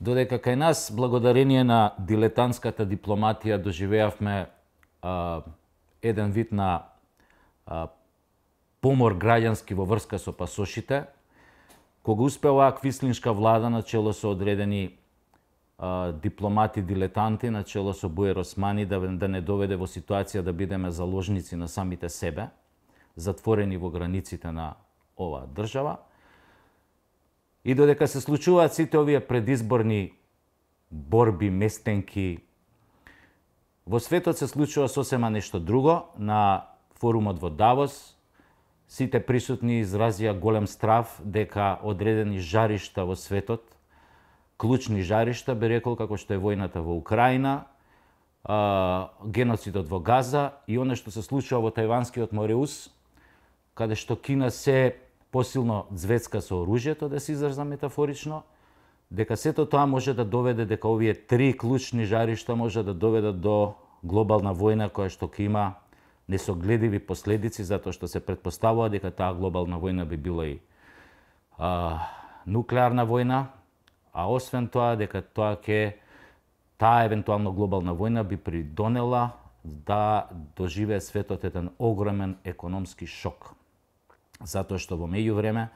Додека кај нас, благодарение на дилетантската дипломатија, доживеавме еден вид на помор граѓански во врска со пасошите, кога успела квислиншка влада на чело со одредени дипломати дилетанти, на чело со Буер Османи, да не доведе во ситуација да бидеме заложници на самите себе, затворени во границите на оваа држава. И додека се случуваат сите овие предизборни борби, местенки, во светот се случува сосема нешто друго. На форумот во Давос сите присутни изразија голем страв дека одредени жаришта во светот, клучни жаришта, би рекол, како што е војната во Украина, геноцидот во Газа и оно што се случува во Тајванскиот Мореус, каде што Кина се посилно звецка со оружјето, да се изразам метафорично, дека сето тоа може да доведе, дека овие три клучни жаришта може да доведат до глобална војна која што ќе има несогледиви последици, затоа што се претпоставува дека таа глобална војна би била и нуклеарна војна, а освен тоа дека таа евентуално глобална војна би придонела да доживее светот еден огромен економски шок. Затоа што во меѓувреме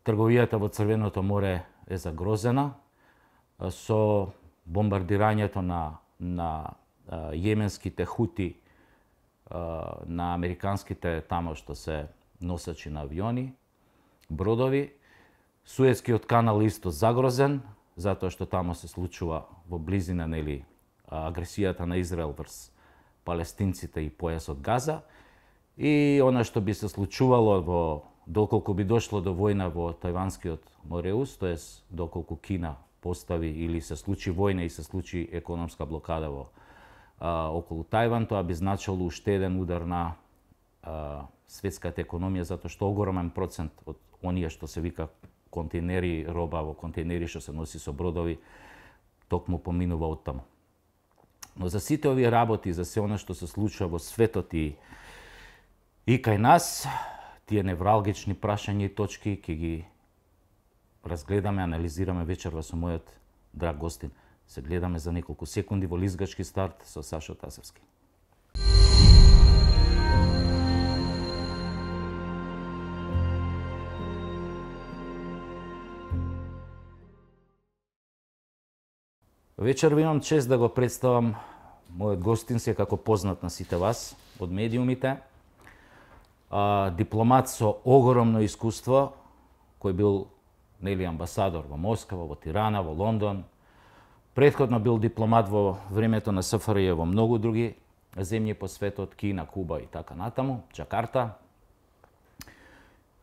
трговијата во Црвеното море е загрозена со бомбардирањето на јеменските хути, на американските тамо што се носачи на авиони, бродови. Суетскиот канал исто загрозен, затоа што тамо се случува во близина агресијата на Израел врз палестинците и појасот Газа. И она што би се случувало доколку би дошло до војна во Тајванскиот Мореус, тоест доколку Кина постави или се случи војна и се случи економска блокада околу Тајван, тоа би значило уште еден удар на светската економија, затоа што огромен процент од оние што се вика контейнери, роба во контейнери што се носи со бродови, токму поминува од таму. Но за сите овие работи, за се она што се случува во светот и кај нас, тие невралгични прашања и точки ќе ги разгледаме, анализираме вечерва со мојот драг гостин. Се гледаме за неколку секунди во лизгачки старт со Сашо Тасевски. Вечерва имам чест да го представам мојот гостин, се како познат на сите вас од медиумите. Дипломат со огромно искуство, кој бил амбасадор во Москва, во Тирана, во Лондон. Претходно бил дипломат во времето на СФРЈ во многу други земји по светот, Кина, Куба и така натаму, Џакарта.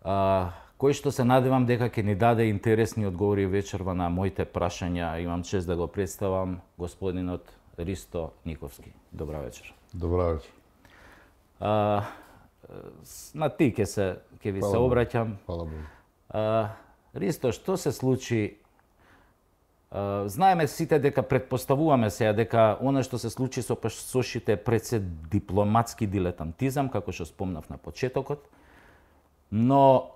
Кој што се надевам дека ќе ни даде интересни одговори вечерва на моите прашања. Имам чест да го представам господинот Ристо Никовски. Добра вечер. Добра вечер. На ти ќе ви се обраќам. Фала Богу. Ристо, што се случи? Знаеме сите дека претпоставуваме сега дека она што се случи со пасошите пред се дипломатски дилетантизам, како што спомнав на почетокот, но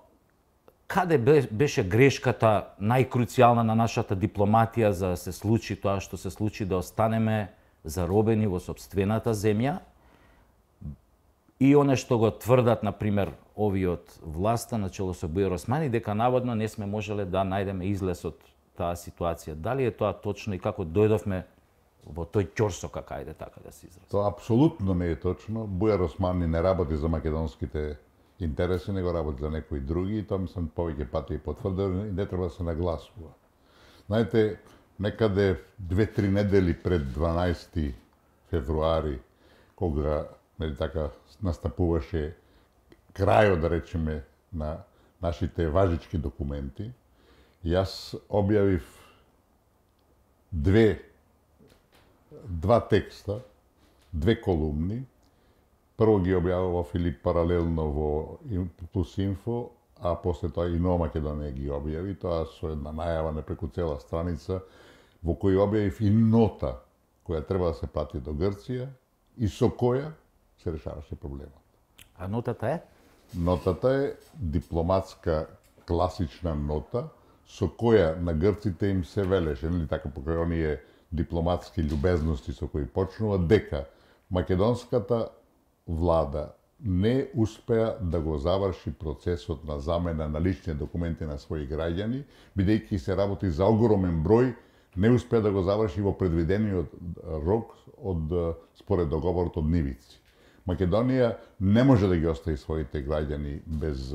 каде беше грешката најкруцијална на нашата дипломатија за да се случи тоа што се случи, да останеме заробени во сопствената земја? И оно што го тврдат, например, овиот власта на чело со Буер Османи, дека наводно не сме можеле да најдеме излез од таа ситуација. Дали е тоа точно и како дојдовме во тој ќорсок, ајде така да се изразам? Тоа апсолутно не е точно. Буер Османи не работи за македонските интереси, него работи за некои други, и тоа мислам повеќе пати е потврдено и не треба да се нагласува. Знаете, некаде 2-3 недели пред 12 февруари, кога така настапуваше крајот, да речеме, на нашите важички документи, јас објавив два текста, две колумни. Прво ги објавува Филип паралелно во Плюс Инфо, а после тоа и Нова Македонија ги објави, тоа со една најава на преку цела страница, во кој објавив и нота која треба да се плати до Грција и со која се решаваше проблемот. А нотата е? Нотата е дипломатска класична нота со која на грците им се велеше, нели така, покрај оние дипломатски љубезности со кои почнува, дека македонската влада не успеа да го заврши процесот на замена на лични документи на своји граѓани, бидејќи се работи за огромен број, не успеа да го заврши во предвидениот рок според договорот од Нивици. Македонија не може да ги остави своите граѓани без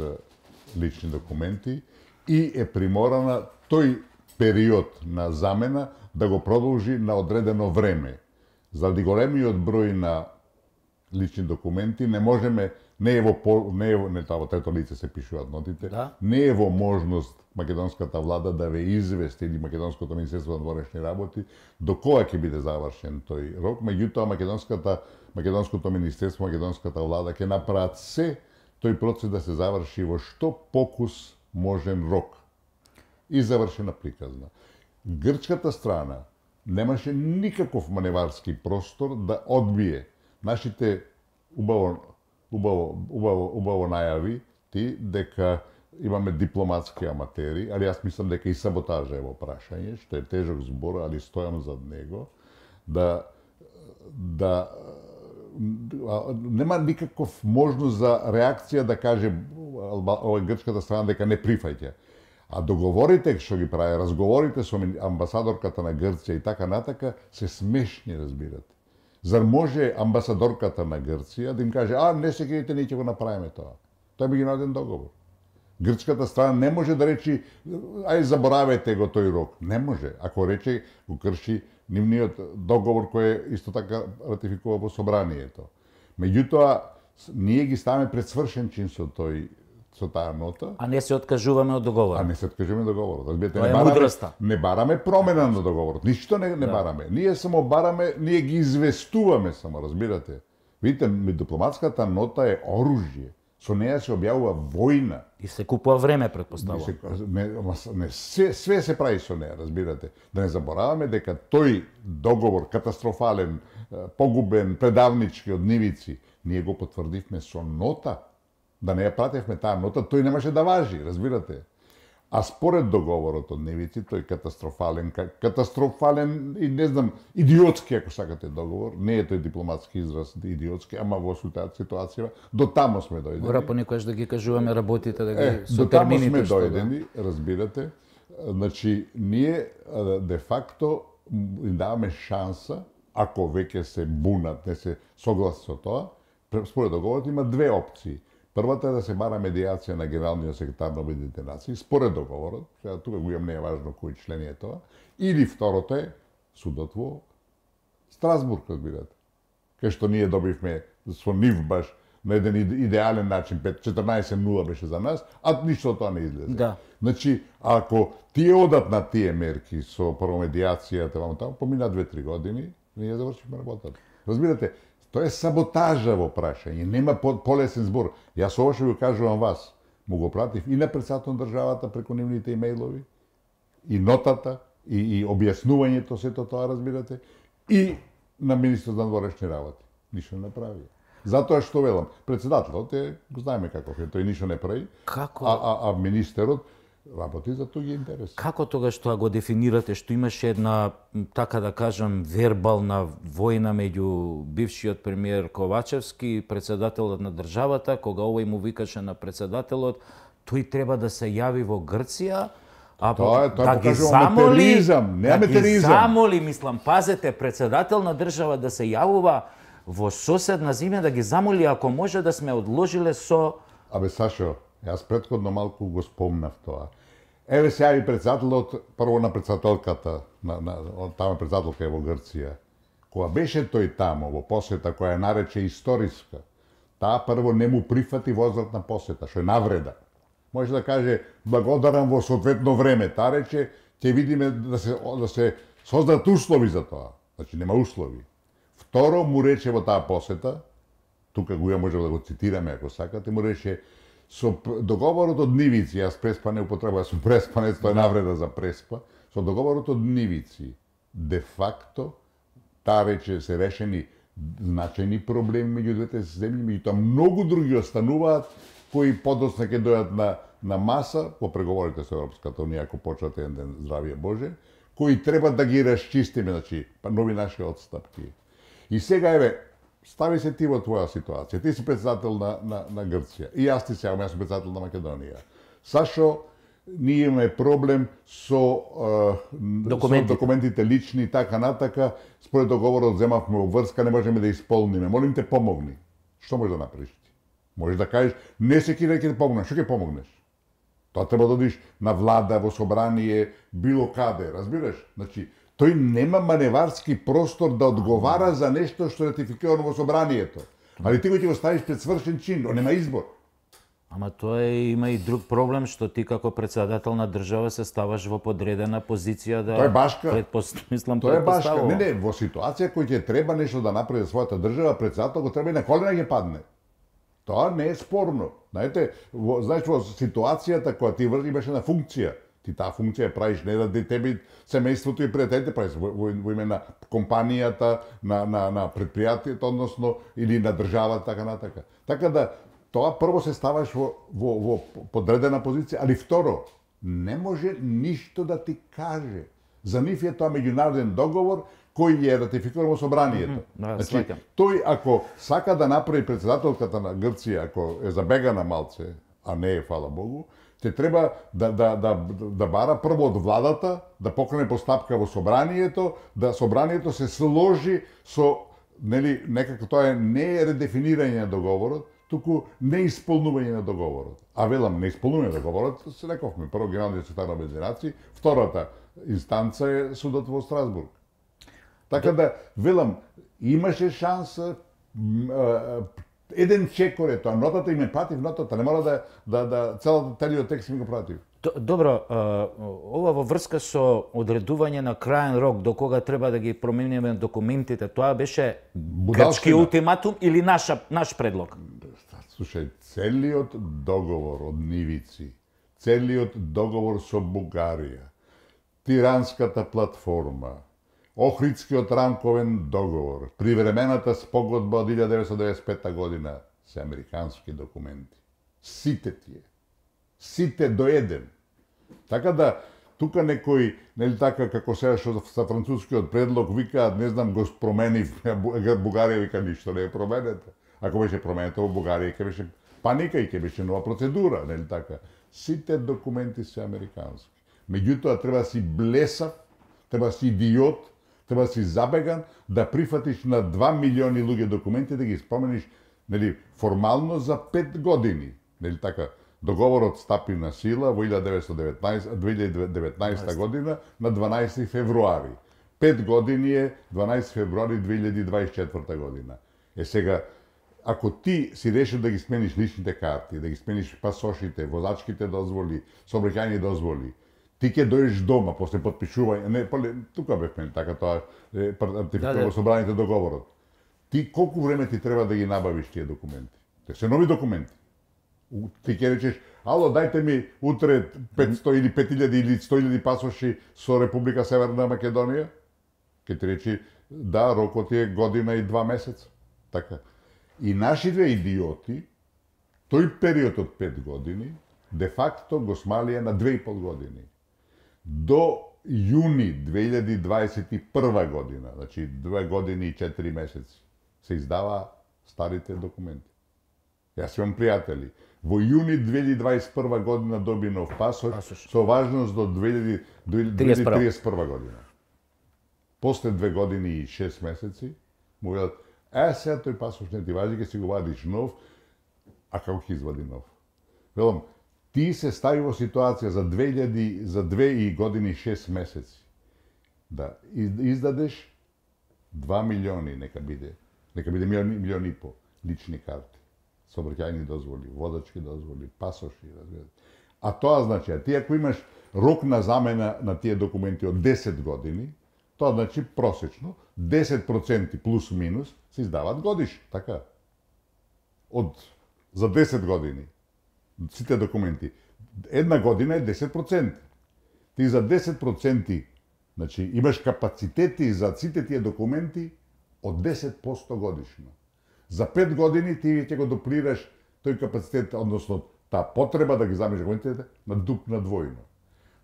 лични документи и е приморана тој период на замена да го продолжи на одредено време. Заради големиот број на лични документи не можеме, не тоа во трето лице се пишуваат нотите, не е во можност македонската влада да ве извести или македонското министерство на външни работи до кога ќе биде завршен тој рок, меѓутоа македонското министерство, македонската влада ќе направат се тој процес да се заврши во што покус можен рок. И завршена приказна. Грчката страна немаше никаков маневарски простор да одбие нашите убаво најави ти дека имаме дипломатски аматери, али јас мислам дека и саботажа е во прашање, што е тежок збор, али стојам зад него, нема никаков можност за реакција да каже овој грчката страна дека не прифаќа. А договорите што ги прави, разговорите со амбасадорката на Грција и така натака се смешни, разбирате. Зар може амбасадорката на Грција да им каже, не се грижите, ние ќе го направиме тоа. Тоа е меѓународен договор. Грчката страна не може да речи, заборавете го тој рок. Не може. Ако рече, го крши нивниот договор кој исто така ратификува во собранието. Меѓутоа, ние ги ставаме пред свршен чин со таа нота. А не се откажуваме од договорот. А не се откажуваме од договорот. Разбирате, не бараме промена на договорот. Ништо не бараме. Ние само бараме, ние ги известуваме само, разбирате. Видите, дипломатската нота е оружје. Со неја се објавува војна. И се купува време, предпоставувам. Све се прави со неја, разбирате. Да не забораваме дека тој договор, катастрофален, погубен, предавнички од Нивици, ние го потврдивме со нота. Да не ја пратевме таа нота, тој немаше да важи, разбирате. А според договорот од Нивици, тој катастрофален и не знам, идиотски, ако сакате договор, не е тој дипломатски израз идиотски, ама во ситуација, до тамо сме дојдени. Мора понекогаш да ги кажуваме работите, да ги со термините. До тамо сме дојдени, разбирате. Значи, ние де факто им даваме шанса, ако веќе се бунат, не се согласи со тоа, според договорот има две опции. Првата е да се бара медијација на генералниот секретар на Обединетите нации, според договорот, тука го имам, не е важно кој член е тоа, или второто е судот во Страсбург, разбирате. Кај што ние добивме со нив баш на еден идеален начин, 14-0 беше за нас, а ништо тоа не излезе. Да. Значи, ако тие одат на тие мерки со прво медијацијата, помина 2-3 години, ние завршивме работата. Разбирате, тоа е саботажа во прашање, нема полесен збор. Јас ова што го кажувам вас, му го пратив и на председател на државата преку нивните имејлови, и нотата, и објаснувањето, сето тоа, разбирате, и на министрот на външни работи. Ништо не направи. Затоа што велам, председателот го знаеме каков е, тој ништо не прави, а министерот работи за тој интерес. Како тогаш тоа го дефинирате, што имаше една, така да кажам, вербална војна меѓу бившиот премиер Ковачевски и председателот на државата, кога овој му викаше на председателот, тој треба да се јави во Грција, да ги замоли, мислам, пазете, председател на држава да се јавува во соседна земја, да ги замоли ако може да сме одложиле со... Абе, Сашо, јас претходно малку го спомнав тоа. Еве се јави председателот, прво на председателката, тама председателка е во Грција. Кога беше тој тамо во посета која нарече историска, таа прво не му прифати возвратна посета, што е навреда. Може да каже благодарам во соодветно време, таа рече ќе видиме да се создадат услови за тоа. Значи нема услови. Второ му рече во таа посета, тука го може да го цитираме ако сакате, му рече со договорот од Нивици, јас преспа не употребувам, со преспанец, тоа е навреда за преспа, со договорот од Нивици, де факто, таа рече се решени значајни проблеми меѓу двете земји, меѓутоа многу други остануваат, кои подоцна ќе дојдат на маса по преговорите со Европската унија, ако почнат еден ден, здравие Боже, кои треба да ги расчистиме, значи, нови наши отстапки. И сега, еве, стави се ти во твоја ситуација. Ти си председател на Грција. И јас ти сега, јас сум председател на Македонија. Сашо, ние имаме проблем со документите лични, така натака, според договорот земавме обврска, не можеме да исполниме. Молим те, помогни. Што можеш да направиш ти? Можеш да кажеш, не се ќе ти помогнеш. Што ќе помогнеш? Тоа треба да одиш на влада, во собрание, било каде, разбираш? Значи, тој нема маневарски простор да одговара за нешто што е ратификирано во собранието. Али ти го ќе го ставиш пред свршен чин, нема избор. Ама тоа има и друг проблем, што ти како председател на држава се ставаш во подредена позиција да... Тоа е башка. Тоа е башка. Не, во ситуација кој ќе треба нешто да направи за својата држава, председател го треба и на колена ќе падне. Тоа не е спорно. Знаете, знаеш, во ситуацијата која ти имаш една функција, ти таа функција правиш не да тебе семејството и пријателите правиш во име на компанијата, на предпријатието, односно или на државата, така натака. Така да тоа прво се ставаш во подредена позиција, али второ, не може ништо да ти каже. За нив е тоа меѓународен договор кој е ратификиран во собранието. Значи, тој ако сака да направи председателката на Грција, ако е забегана малце, а не е, фала Богу, ќе треба да бара прво од владата, да покрене постапка во собранието, да собранието се сложи со, нели, некако тоа не е редефинирање на договорот, туку неисполнување на договорот. А велам, неисполнување на договорот, се рековме, прво Генералниот секретар на Обединетите нации, втората инстанца е судот во Страсбург. Така да, велам, имаше шанса, еден чекор е тоа, нотата им е пратив, нотата, не мора целиот текст ми го пратив. Добро, ова во врска со одредување на краен рок до кога треба да ги промениме документите, тоа беше грчки ултиматум или наш предлог? Слушај, целиот договор од нивици, целиот договор со Бугарија, Тиранската платформа, Охридскиот рамковен договор, привремената спогодба од 1995 година се американски документи. Сите тие. Сите до еден. Така да, тука некој, нели така, како сега што sa францускиот предлог викаат, не знам, го променив, Бугарија вика ништо не е променето. Ако беше променето во Бугарија, ќе беше паника и ќе беше нова процедура, нели така. Сите документи се американски. Меѓутоа, треба да си блесав, треба да си идиот, треба да си забеган, да прифатиш на 2 милиони луѓе документи, да ги спомениш, нели, формално за 5 години. Нели така, договорот стапи на сила во 2019 година на 12 февруари. 5 години е 12 февруари 2024 година. Е сега, ако ти си решил да ги смениш личните карти, да ги смениш пасошите, возачките дозволи, сообраќајни дозволи, ти ќе дојдеш дома после потпишување, не, тука бевме, така тоа ратификувано собраните договорот. Ти колку време ти треба да ги набавиш тие документи? Те се нови документи. Ти ќе речеш, ало, дајте ми утре 500 или 5000 или 100.000 пасоши со Република Северна Македонија? Ке ти речи, да, рокот е година и 2 месеца. Така. И нашите идиоти, тој период од 5 години, де факто го смалија на 2,5 години. До јуни 2021 година, значи 2 години и 4 месеци, се издава старите документи. Јас имам пријатели. Во јуни 2021 година доби нов пасош со важност до 2031 година. После 2 години и 6 месеци, му велат, сега тој пасош не ти важи, ќе си го вадиш нов, а како ќе извади нов? Велам, ти се стави во ситуација за 2 години и 6 месеци да издадеш 2 милиони, нека биде милион и по лични карти, сообраќајни дозволи, водачки дозволи, пасоши, разбирате. А тоа значи, ти ако имаш рок на замена на тие документи од 10 години, тоа значи просечно 10% плюс минус се издаваат годиш, така. За 10 години сите документи. Една година е 10%. Ти за 10%, значи имаш капацитети за сите тие документи од 10% годишно. За 5 години ти ќе го дуплираш тој капацитет, односно таа потреба да ги замиш документите на двојно.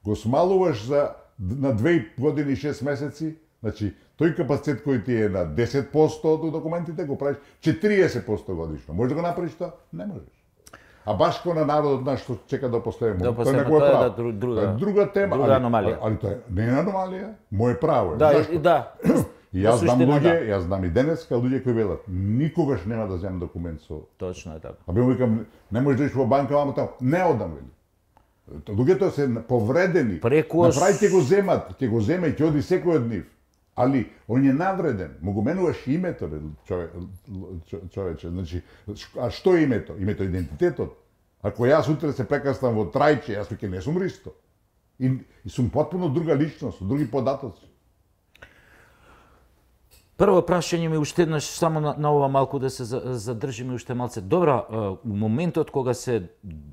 Го смалуваш на 2 години и 6 месеци, значи тој капацитет кој ти е на 10% од документите го правиш 40% годишно. Можеш да го направиш тоа? Не можеш. А баш кога на народот наш што чека до последно, тоа е друга тема, друга аномалија. Али тоа не е аномалија, моје право е. Да. И јас знам и денеска луѓе кои велат, никогаш нема да земам документ со. Точно е така. А би му викам, не можеш да идеш во банка, мамо таму, не одам вели. Луѓето се повредени. Направи ќе го земе и ќе оди секој од нив. Али он е навреден, му го менуваш името, човече. Значи, а што е името? Името е идентитетот. Ако јас утре се прекаснам во Трајче, јас веќе не сум Ристо. И сум потпуно друга личност, други податоци. Прво прашање ми уште еднаш, само на ова малку да се задржиме уште малце. Добро, у моментот кога се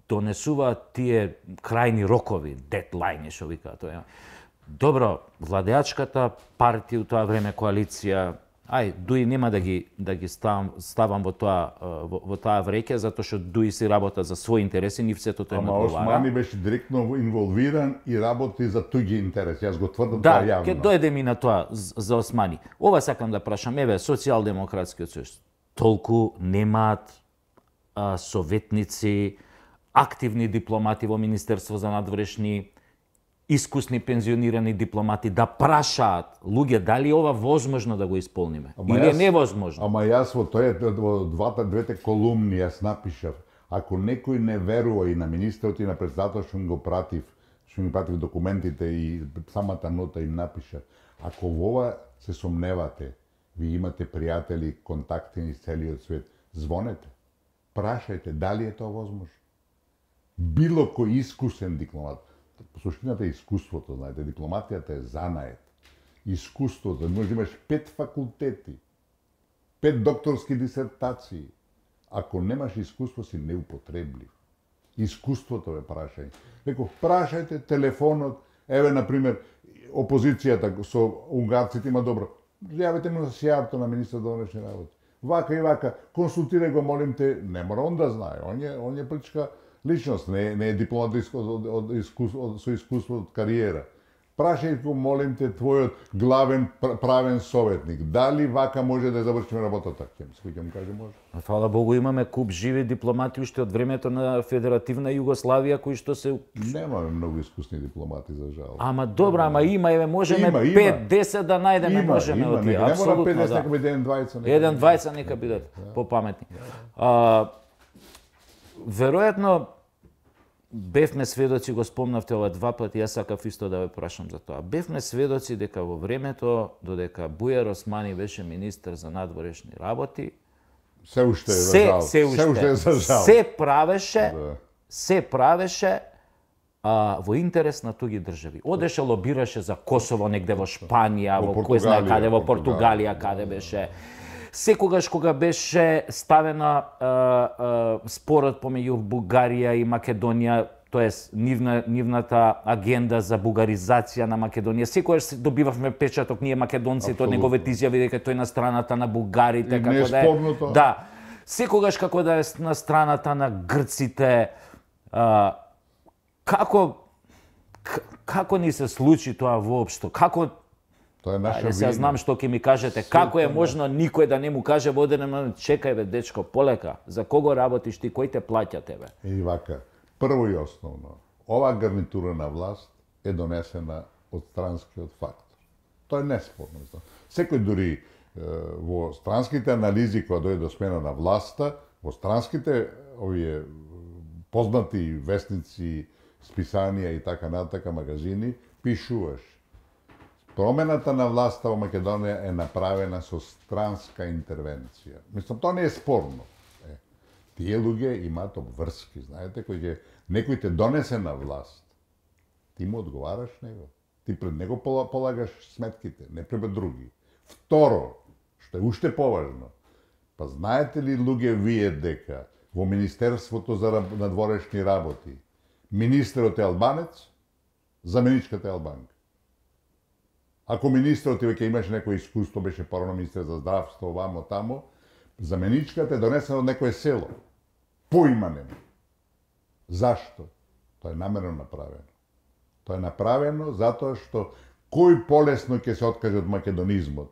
донесуваат тие крајни рокови, дедлайни, што викаат тоа. Добро, владеачката партија у тоа време коалиција, дуи нема да ги ставам во тоа вреќе, затоа што дуи си работа за своји интереси, нив сето тоа им одговара. Ама Османи беше директно инволвиран и работи за туѓи интереси. Јас го тврдам тоа јавно. Да, ќе дојдеме и на тоа за Османи. Ова сакам да прашам, еве, Социјалдемократскиот сојуз толку немаат советници, активни дипломати во Министерство за надворешни, искусни пензионирани дипломати да прашаат луѓе дали ова возможно да го исполниме или е невозможно. Ама јас во двете колумни јас напишав, ако некој не верува и на министерот и на председателот што го пратив, документите и самата нота им напишав, ако во ова се сомневате, ви имате пријатели, контакти из целиот свет, звонете, прашајте дали е тоа возможно. Било кој искусен дипломат, суштината е искуството, знаете, дипломатијата е занает. Искуството, може да имаш 5 факултети, 5 докторски дисертации. Ако немаш искуство, си неупотреблив. Искуството е прашање. Реков, прашајте телефонот, еве, например, опозицијата со унгарците има добро. Јавете му на сијарто на министар за внешни работи. Вака и вака, консултирај го, молим те, не мора он да знае, он е политичка личност, не е дипломат со искуство од кариера. Прашај го, молим те, твојот главен правен советник, дали вака може да завршиме работата? Ќе му каже може. Фала Богу, имаме куп живи дипломати уште од времето на Федеративна Југославија кои што се Немаме многу искусни дипломати за жал. Ама добро, ама има, можеме 5-10 да најдеме, можеме од тие. Апсолутно, да. Нека биде 1-20. 1-20 нека бидат попаметни. Веројатно бевме сведоци, го спомнавте ова 2 пати, јас сакав исто да ве прашам за тоа. Бевме сведоци дека во времето додека Бујар Османи беше министер за надворешни работи, се уште е за жал. Се правеше во интерес на туѓи држави. Одеше лобираше за Косово негде во Шпанија, во кој знае каде, во Португалија каде беше. Секогаш кога беше ставена спорот помеѓу Бугарија и Македонија, тоест нивната агенда за бугаризација на Македонија, секогаш добивавме печаток ние македонците од неговите изјави дека тој на страната на бугарите, како да е. Да. Секогаш како да е на страната на грците. Како ни се случи тоа воопшто? Како тоа е наша вина. Сега знам што ќе ми кажете. Како е можно никој да не му каже во одреден момент, чекај бе дечко, полека, за кого работиш ти, кој те плаќа тебе? И вака, прво и основно, ова гарнитура на власт е донесена од странскиот фактор. Тоа е неспорно. Секој дури во странските анализи кога дојде до смена на власта, во странските овие познати вестници, списанија и така натака магазини, пишуваш промената на власта во Македонија е направена со странска интервенција. Мислам, тоа не е спорно. Тие луѓе имаат обврски, знаете, некој те донесе на власт. Ти му одговараш него. Ти пред него полагаш сметките, не пред други. Второ, што е уште поважно, па знаете ли луѓе вие дека во Министерството за надворешни работи министерот е албанец, заменичката е албанка. Ако министерот веќе имаше некој искуство, беше порано министер за здравство, вамо тамо, заменичката е донесена од некое село. Поима нема. Зашто? Тоа е намерно направено. Тоа е направено затоа што кој полесно ќе се откаже од македонизмот?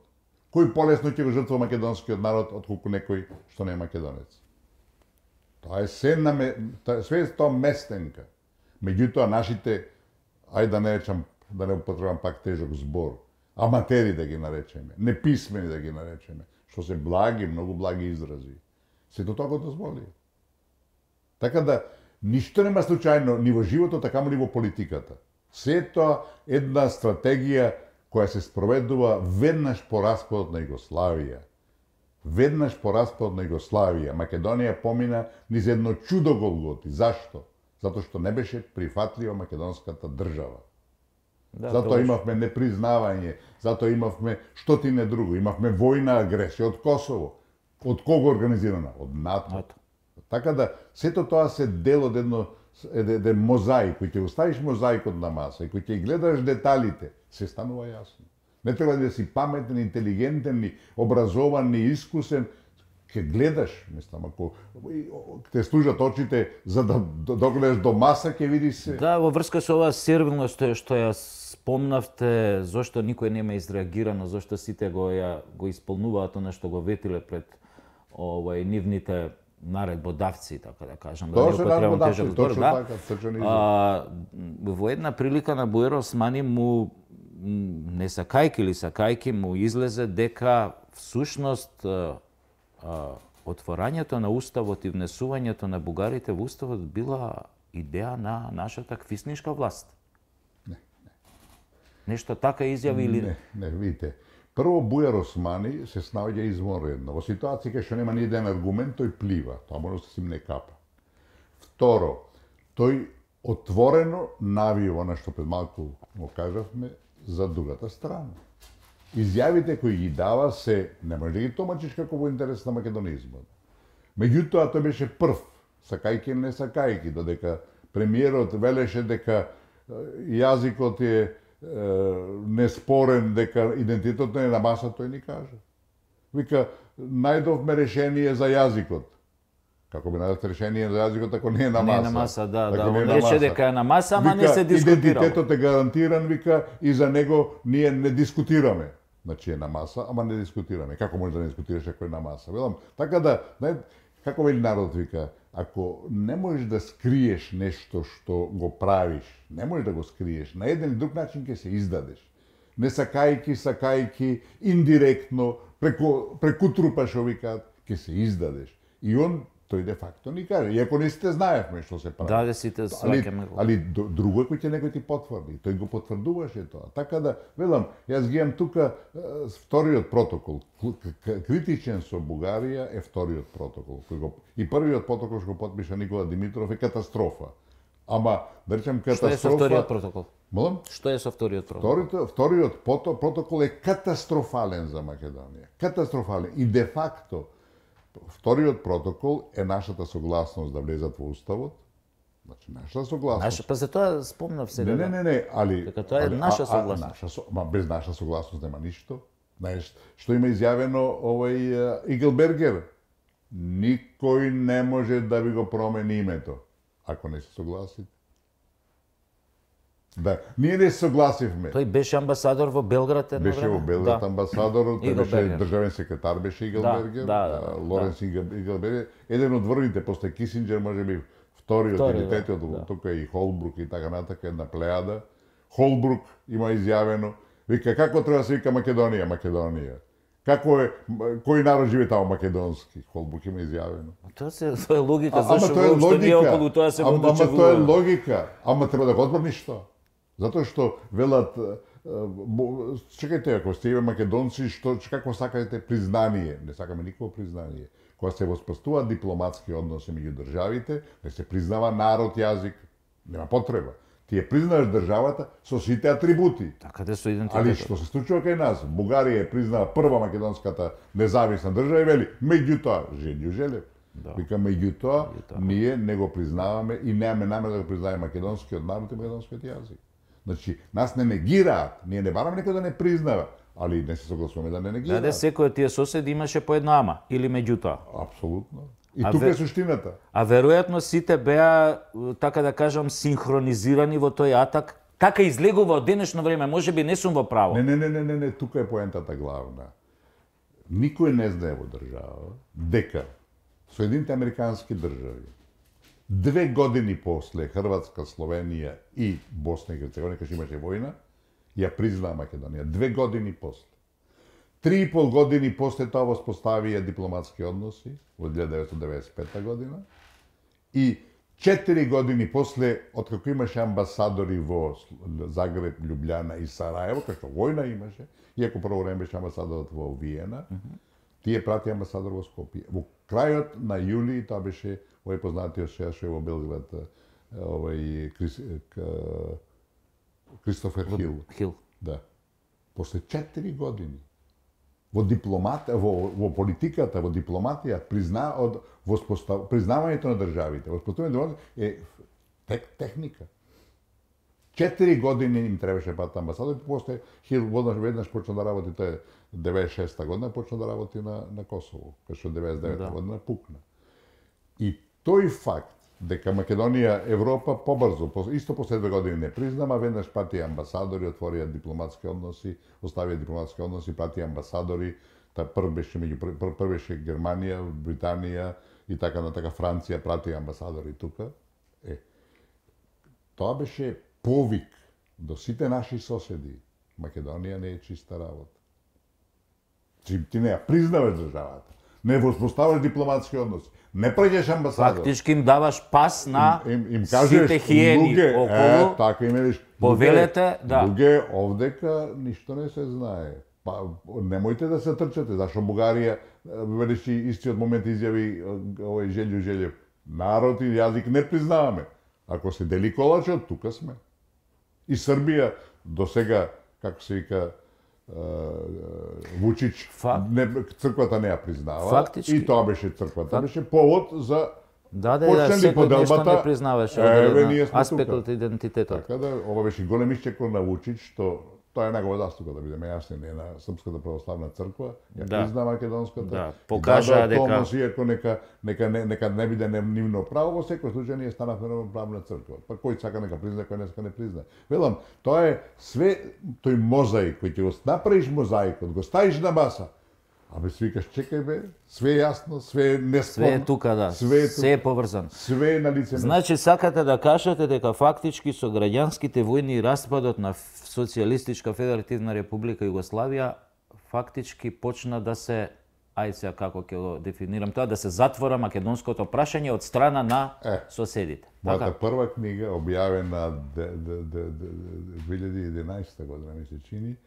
Кој полесно ќе го жртва македонскиот народ отколку некој што не е македонец? Тоа е све тоа местенка. Меѓутоа нашите, ајде да не речам, да не употребам пак тежок збор, аматери да ги наречеме, неписмени да ги наречеме, што се благи, многу благи изрази. Сето тоа го дозволи. Така да, ништо нема случајно ни во животот, така ни во политиката. Се тоа една стратегија која се спроведува веднаш по распадот на Југославија. Веднаш по распадот на Југославија, Македонија помина низ едно чудо голготи. Зашто? Затоа што не беше прифатлива македонската држава. Да, затоа имавме непризнавање, затоа имавме што ти не друго, имавме војна агресија од Косово. Од кого организирана? Од НАТО. Така да, сето тоа се дел од еден мозаик, кој ќе оставиш мозаикот на маса и кој ќе гледаш деталите, се станува јасно. Не треба да си паметен, интелигентен, образован, искусен, ќе гледаш, мислам, ако те служат очите за да догледаш до маса, ќе видиш се. Да, во врска со оваа сервилност што ја спомнавте, зошто никој нема изреагирано, зошто сите го исполнуваат она што го ветиле пред нивните наредбодавци, така да кажам, да не употребам тежок збор, да. Во една прилика на Буер Османи му не сакајки или сакајки му излезе дека всушност отворањето на уставот и внесувањето на бугарите во уставот била идеја на нашата квиснишка власт. Не. Нешто така изјави или Не, видите. Прво, Буер Османи се снаоѓа извонредно. Во ситуација кај што нема ни еден аргумент, тој плива. Тоа може да се симне капа. Второ, тој отворено навива, она што пред малку го кажавме, за другата страна. Изјавите кои ги дава се, не може да ги томачиш како во интерес на македонизмот. Меѓутоа, тој беше прв, сакајки или не сакајки, додека премиерот велеше дека јазикот е неспорен, дека идентитетот не е на маса, тој ни кажа. Вика, најдовме решение за јазикот. Како би најдовте решение за јазикот ако не е на маса? Не е на маса, да. Он рече дека е на маса, ама не се дискутира. Идентитетот е гарантиран, вика, и за него ние не дискутираме. Значи е на маса, ама не дискутираме. Како може да не дискутираш ако е на маса? Велам, така да, како вели народ, вика, ако не можеш да скриеш нешто што го правиш, не можеш да го скриеш, на еден или друг начин ќе се издадеш. Не сакајки, индиректно, преку трупа што викаат, ќе се издадеш. И он тој де факто ни каже, иако не сите знаевме што се прави. Да, сите сваќаме го. Али друго е кој ќе некој ти потврди, тој го потврдуваше тоа. Така да, велам, јас ги имам тука вториот протокол. Критичен со Бугарија е вториот протокол. И првиот протокол што го потпиша Никола Димитров е катастрофа. Ама, да речем катастрофа... Што е со вториот протокол? Молам? Што е со вториот протокол? Вториот протокол е катастрофален за Македонија. Катастрофален. И де факто, вториот протокол е нашата согласност да влезат во уставот. Значи, нашата согласност. Па за тоа спомнав сега. Не, али... Дека тоа е наша согласност. Без наша согласност нема ништо. Знаеш, што има изјавено Игелбергер? Никој не може да ви го промени името, ако не се согласите. Да, ние не се согласивме. Тој беше амбасадор во Белград едно време. Беше во Белград амбасадор, тој беше државен секретар, беше Игелбергер, Лоренс Игелбергер, еден од врвите после Кисинџер, можеби вториот или третиот, тука и Холбрук и така натака, една плејада. Холбрук има изјавено, вика како треба да се вика Македонија. Како е, кој народ живее таму македонски? Холбрук има изјавено. Тоа е логика, зашто воопшто ние околу тоа се водочевува. Ама тоа е логика, ама треба да го одбраниш тоа. Затоа што велат, чекајте, ако сте македонци, како сакате признание? Не сакаме никакво признание. Кога се воспоставуваат дипломатски односи меѓу државите, не се признава народ, јазик, нема потреба. Ти ја признаваш државата со сите атрибути. Така да со идентитетот. Али што се случува кај нас? Бугарија ја признава прва македонската независна држава и вели, меѓутоа, Желјо Желев. Вика, меѓутоа, ние не го признаваме и немаме намера да го признаваме македонскиот народ и македонскиот јазик. Значи, нас не негираат, ние не бараме некој да не признава, али не се согласуваме да не негираат. Да, секој од тие соседи имаше по една ама, или меѓутоа. Апсолутно. И тука е суштината. А веројатно сите беа, така да кажам, синхронизирани во тој атак. Така излегува од денешно време, можеби не сум во право. Не, тука е поентата главна. Никој не знае во држава дека Соединените американски држави 2 години после Хрватска, Словенија и Босна и Херцеговина, кога имаше војна, ја признаа Македонија. 2 години после. 3,5 години после тоа воспоставија дипломатски односи во 1995 година и 4 години после, откако имаше амбасадори во Загреб, Љубљана и Сараево, кај што војна имаше, иако прво време беше амбасадорот во Виена, тие прати амбасадор во Скопје. Во крајот на јули, тоа беше овој познатиот шеф во Белград, Кристофер Хил. Да. После 4 години во политиката, во дипломатија, признавањето на државите, воспоставувањето е техника. 4 години им требаше пат амбасадор, после Хил веднаш почна да работи, тоа е 96-та година, почна да работи на Косово, кај што 99-та година пукна. И тој факт дека Македонија, Европа побрзо, исто после 2 години не признама, веднаш пати амбасадори, отворија дипломатски односи, оставија дипломатски односи, пати амбасадори, прв беше Германија, Британија и така на така Франција прати амбасадори тука. Тоа беше повик до сите наши соседи. Македонија не е чиста работа. Ти не ја признаваш државата, не воспоставаш дипломатски односи, не праќаш амбасадор. Фактички им даваш пас на им кажеш, сите хиени околу. Така им велиш. Повелете, да. Луѓе, овдека ништо не се знае. Па немојте да се трчате, зашто Бугарија велиш истиот момент изјави овој Желјо Желјев. Народ и јазик не признаваме. Ако се дели колачот, тука сме. И Србија до сега, како се вика, Вучич, црквата не ја признава. Фактички. И тоа беше црквата. Беше повод за секој нешто не признаваше аспектот идентитетот. Така да, ова беше голем исчекор на Вучич, што тоа е негова заслуга, да бидеме јасни, не на Српската православна црква, ја призна македонската. Да, покажа дека Томас, иако нека не биде нивно право, во секој случај ние станавме равноправна црква. Па кој сака нека призна, кој не сака не призна. Велам, тоа е све тој мозаик кој ќе го направиш мозаикот, го ставиш на маса. Абе свикаш, чекај бе, све е јасно, све е неспорно. Све е тука, да. Све е поврзано. Све е на лице. Значи сакате да кажете дека фактички со граѓанските војни и распадот на Социјалистичка Федеративна Република Југославија фактички почна да се, сега како ќе го дефинирам тоа, да се затвора македонското прашање од страна на соседите. Мојата прва книга објавена 2011 година ми се чини,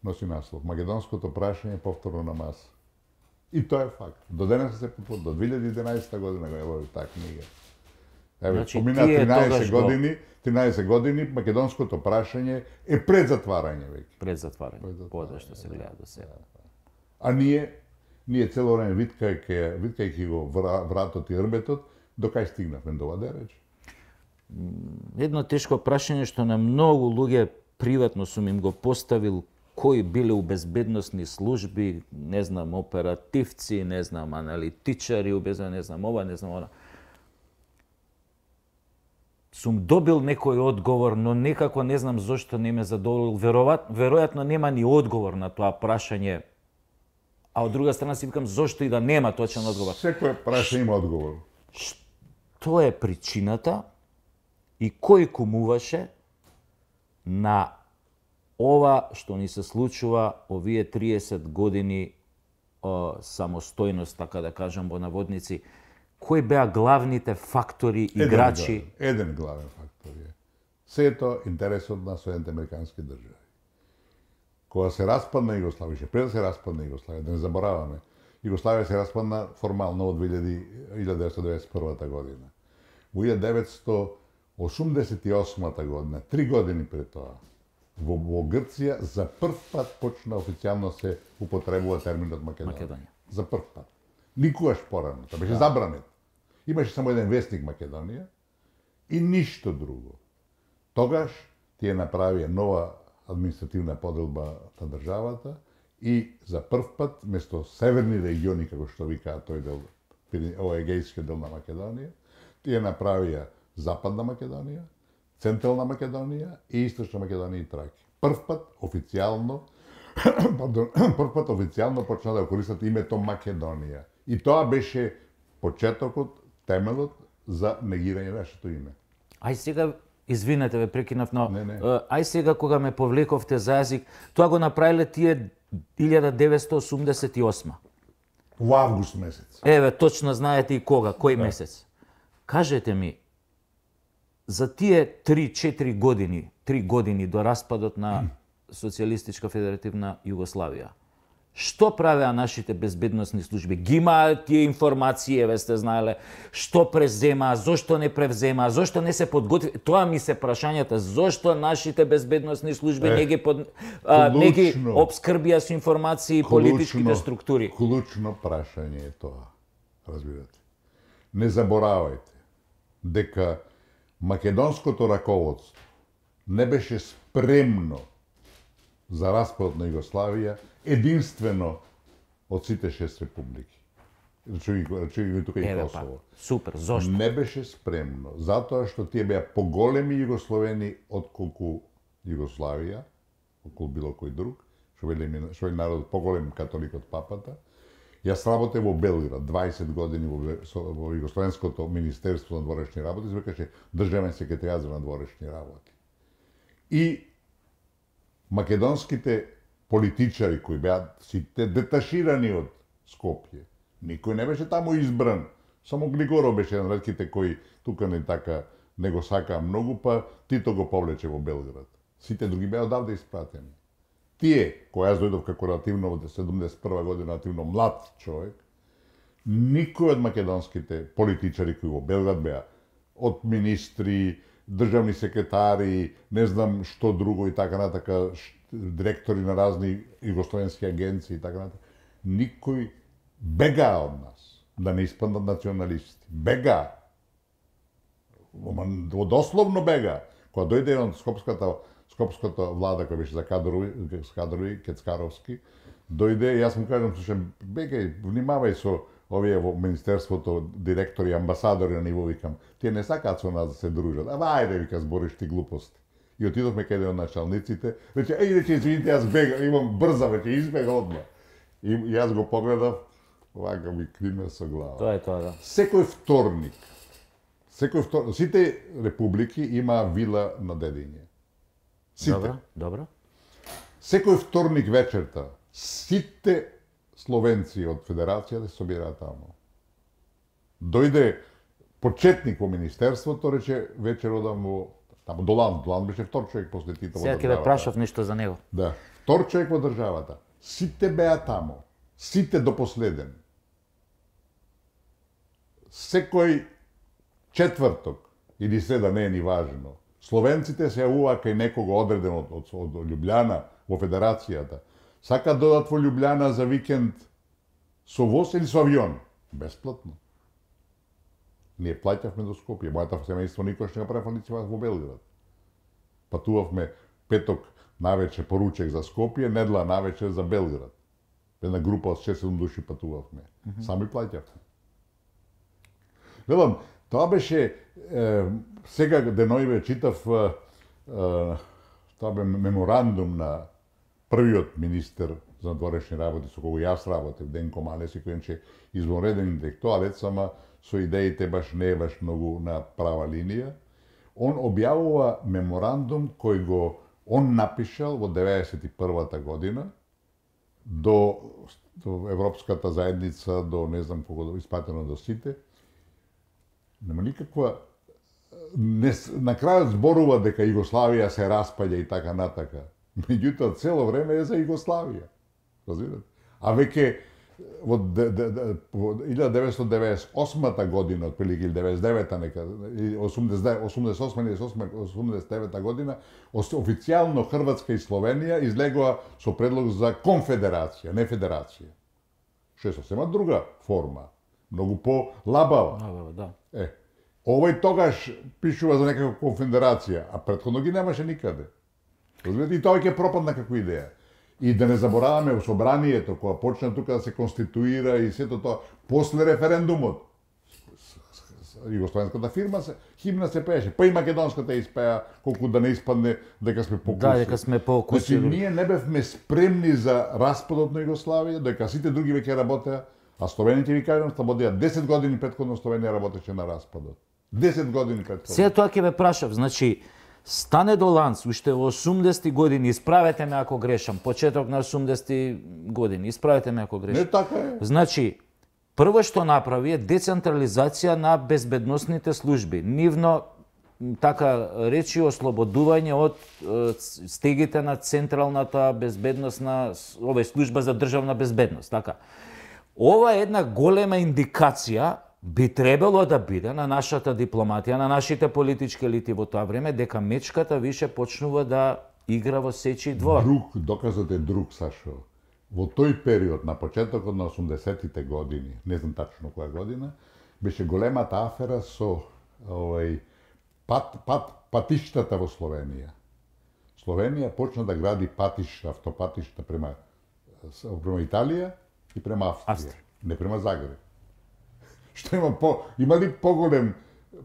носи наслов Македонското прашање повторно на маса. И тоа е факт. До денес се потврди, до 2011 година го е таа книга. Значи, помина 13 години, македонското прашање е пред затварање веќе. Пред затварање, пода што се гледа до сега. А ние цело време виткајќи го вратот и рбетот, до кај стигнавме до оваа реч? Едно тешко прашање што на многу луѓе приватно сум им го поставил, кои биле у безбедносни служби, не знам, оперативци, не знам, аналитичари, не знам ова, не знам она. Сум добил некој одговор, но некако не знам зошто не ме задоволил. Веројатно нема ни одговор на тоа прашање. А од друга страна си викам зошто и да нема точен одговор. Секој прашање има одговор. Што е причината и кој кумуваше на ова што ни се случува овие 30 години самостојност, така да кажам во наводници, кои беа главните фактори, играчи? Еден главен фактор е. Сето интересот на Соединените американски држави. Кога се распадна Југославија, пред да се распадна Југославија, да не забораваме, Југославија се распадна формално од 1991 година. Во 1988 година, 3 години пред тоа, во Грција за прв пат почна официјално се употребува терминот Македонија. За прв пат. Никогаш порано. Тоа беше забранет. Имаше само еден вестник Македонија и ништо друго. Тогаш тие направија нова административна поделба на државата и за прв пат, место северни региони, како што викаат тој дел, овој егејски дел на Македонија, тие направија Западна Македонија, Централна Македонија и Источна Македонија и Траки. Прв пат официјално почна да користат името Македонија. И тоа беше почетокот, темелот за негирање нашето име. Ај сега, извинете ве, прекинав, но Не. ај сега кога ме повлековте за јазик, тоа го направиле тие 1988. Во август месец. Еве, точно знаете и кога, кој месец. Кажете ми, за тие 3-4 години, 3 години до распадот на Социјалистичка федеративна Југославија, што правеа нашите безбедносни служби? Ги имаат тие информации, ве сте знаеле, што преземаа, зошто не превземаа, зошто не се подготви? Тоа ми се прашањата, зошто нашите безбедносни служби не ги обскрбија со информации политичките структури? Клучно прашање е тоа, разбирате. Не заборавајте дека македонското раководство не беше спремно за распадот на Југославија единствено од сите 6 републики. Речи тука и Косово. Супер, зошто? Не беше спремно, затоа што тие беа поголеми југословени отколку Југославија, отколку било кој друг, што вели народ поголем католик од папата. Јас работев во Белград 20 години во Југословенското министерство на дворешни работи, се викаше државен секретаријат за надворешни работи. И македонските политичари кои беа сите деташирани од Скопје, никој не беше таму избран, само Глигоров беше еден ретките кои тука не така не го сакаа многу, па Тито го повлече во Белград. Сите други беа одавде испратени. Тие, кои јас дојдов како релативно од 71 година, релативно млад човек, никој од македонските политичари кои во Белград беа, од министри, државни секретари, не знам што друго и така натака, директори на разни југословенски агенции и така натака, никој бега од нас, да не испаднат националисти. Бега. Дословно бега. Кога дојде од скопската влада која беше за кадрови, Кецкаровски, дојде и јас му кажам, слушам, бегај, внимавај со овие во министерството, директори, амбасадори на ниво, викам, тие не сакаат со нас да се дружат. Ама ајде, вика, збориш ти глупости. И отидовме каде од началниците, рече, извините, јас бега, имам брза, веќе избега одма. И јас го погледав, вака ми криме со глава. Тоа е тоа, да. Секој вторник, сите републики има вила на Дедиње. Сите. Добро. Секој вторник вечерта, сите словенци од Федерацијата се собираат таму. Дојде почетник во министерството, рече, вечер одам во таму Долан беше втор човек после Тито во државата. Сега ќе ве прашав нешто за него. Да, втор човек во државата. Сите беа таму, сите до последен. Секој четврток или среда, не е ни важно, словенците се јавува кај некого одреден од Љубљана во Федерацијата. Сака додат во Љубљана за викенд со воз или со авион. Бесплатно. Ние плаќавме до Скопје. Мојата семејство никош не го правев нити во Белград. Патувавме петок навечер поручек за Скопје, недела навечер за Белград. Една група од 6-7 души патувавме. Сами плаќавме. Велам, тоа беше сега деноиве читав тоа бе меморандум на првиот министер за надворешни работи со кого јас работев, Денко Малеси, кој е извонреден интелектуалец, ама со идеите баш не е баш многу на права линија. Он објавува меморандум кој го он напишал во 91-та година до Европската заедница, до не знам кога испратено до сите. Нема никаква на крајот зборува дека Југославија се распаѓа и така натака. Меѓутоа цело време е за Југославија. Разбирате? А веќе во 1998 година, отприлike или 99-та нека, 88 или 89 година, официјално Хрватска и Словенија излегоа со предлог за конфедерација, не федерација. Што е сосема друга форма, многу по-лабава. Да. Овој тогаш пишува за некаква конфедерација, а претходно ги немаше никаде. И тоа ќе пропадна како идеја. И да не забораваме во собранието, кога почна тука да се конституира и сето тоа, после референдумот, југословенската химна се пееше, па и македонската испеа, колку да не испадне дека сме покуси. Да, дека сме покуси. Значи, ние не бевме спремни за распадот на Југославија, дека сите други веќе работеа, а словените ви кажам, слободија 10 години претходно Словенија работеше на распадот. 10 години претходно. Сега тоа ќе ве прашав, значи, Стане Доланц, уште во 80-ти години, исправете ме ако грешам, почеток на 80-ти години, исправете ме ако грешам. Не така е. Значи, прво што направи е децентрализација на безбедносните служби. Нивно, така речи, ослободување од стегите на Централната безбедносна, служба за државна безбедност, така. Ова е една голема индикација, би требало да биде на нашата дипломатија, на нашите политички елити во тоа време, дека мечката више почнува да игра во сечи двор. Доказот е друг, Сашо. Во тој период, на почетокот на 80-тите години, не знам тачно која година, беше големата афера со патиштата во Словенија. Словенија почна да гради автопатишта према Италија и према Австрија. Не према Загреб. Што има ли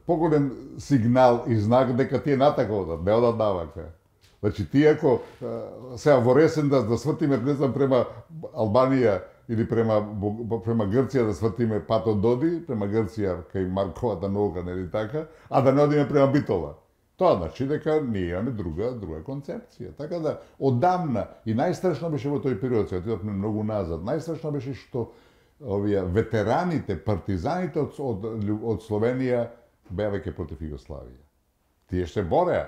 поголем сигнал и знак дека тие натака одат, не одат навака. Значи тие ако сега во ресен да свртиме, не знам, према Албанија или према Грција да свртиме патот Доди, према Грција кај Марковата наука, нели така, а да не одиме према Битола. Тоа значи дека ние имаме друга концепција. Така да одамна и најстрашно беше во тој период, сега отидовме многу назад. Најстрашно беше што овие ветераните, партизаните од Словенија беа веќе против Југославија. Тие се бореа.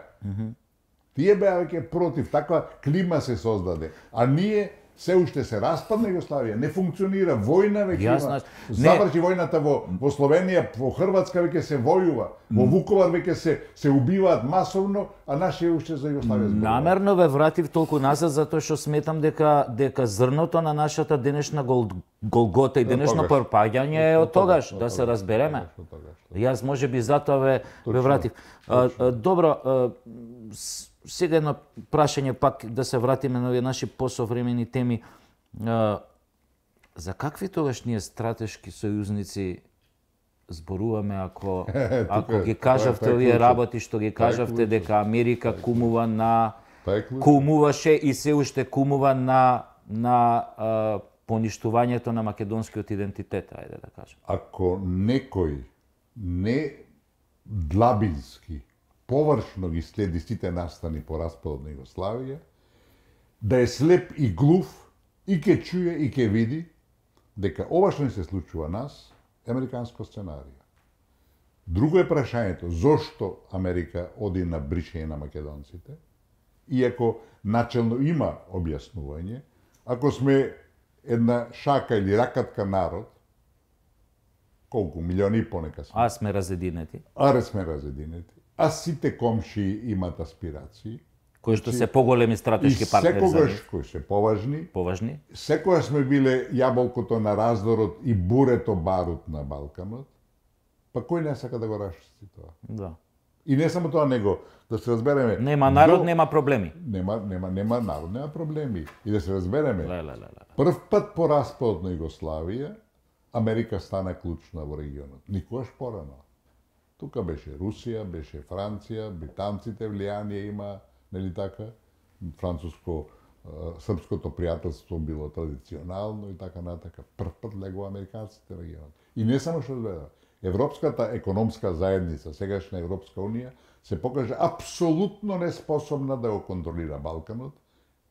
Тие беа веќе против, таква клима се создаде. А ние се уште се распадна Југославија, не функционира, војна веќе има. Заврши војната во Словенија, во Хрватска веќе се војува, во Вуковар веќе се убиваат масовно, а нашите уште за Југославија зборуваат. Намерно ве вратив толку назад затоа што сметам дека зрното на нашата денешна голгота и денешно пропаѓање е од тогаш, да се разбереме. Јас можеби затоа ве вратив. Добро, сега едно прашање пак да се вратиме на овие наши посовремени теми. За какви тогаш ние стратешки сојузници зборуваме ако ги кажавте овие работи што ги кажавте дека Америка кумуваше и се уште кумува на поништувањето на македонскиот идентитет, ајде да кажем. Ако некој не длабински површно ги следи сите настани по распадот на Југославија, да е слеп и глув, и ке чуе, и ке види, дека ова што ни се случува нас, е американско сценарија. Друго е прашањето, зошто Америка оди на бришење на македонците, иако начелно има објаснување, ако сме една шака или ракатка народ, колку, милиони и понека сме. А сме разединети. А сите комши имаат аспирации. Кои што се поголеми стратешки партнери за нив. Кои се поважни. Секогаш сме биле јаболкото на раздорот и бурето барут на Балканот. Па кој не сака да го расчисти тоа? Да. И не само тоа, него, да се разбереме... Нема народ, нема проблеми. Нема народ, нема проблеми. И да се разбереме, прв пат по распадот на Југославија, Америка стана клучна во регионот. Никогаш порано. Тука беше Русија, беше Франција, британците влијание има, нели така? Француско-српското пријателство било традиционално и така натака. Прв пат легува американците во регионот. И не само што гледа. Европската економска заедница, сегашна Европска унија, се покажа апсолутно неспособна да го контролира Балканот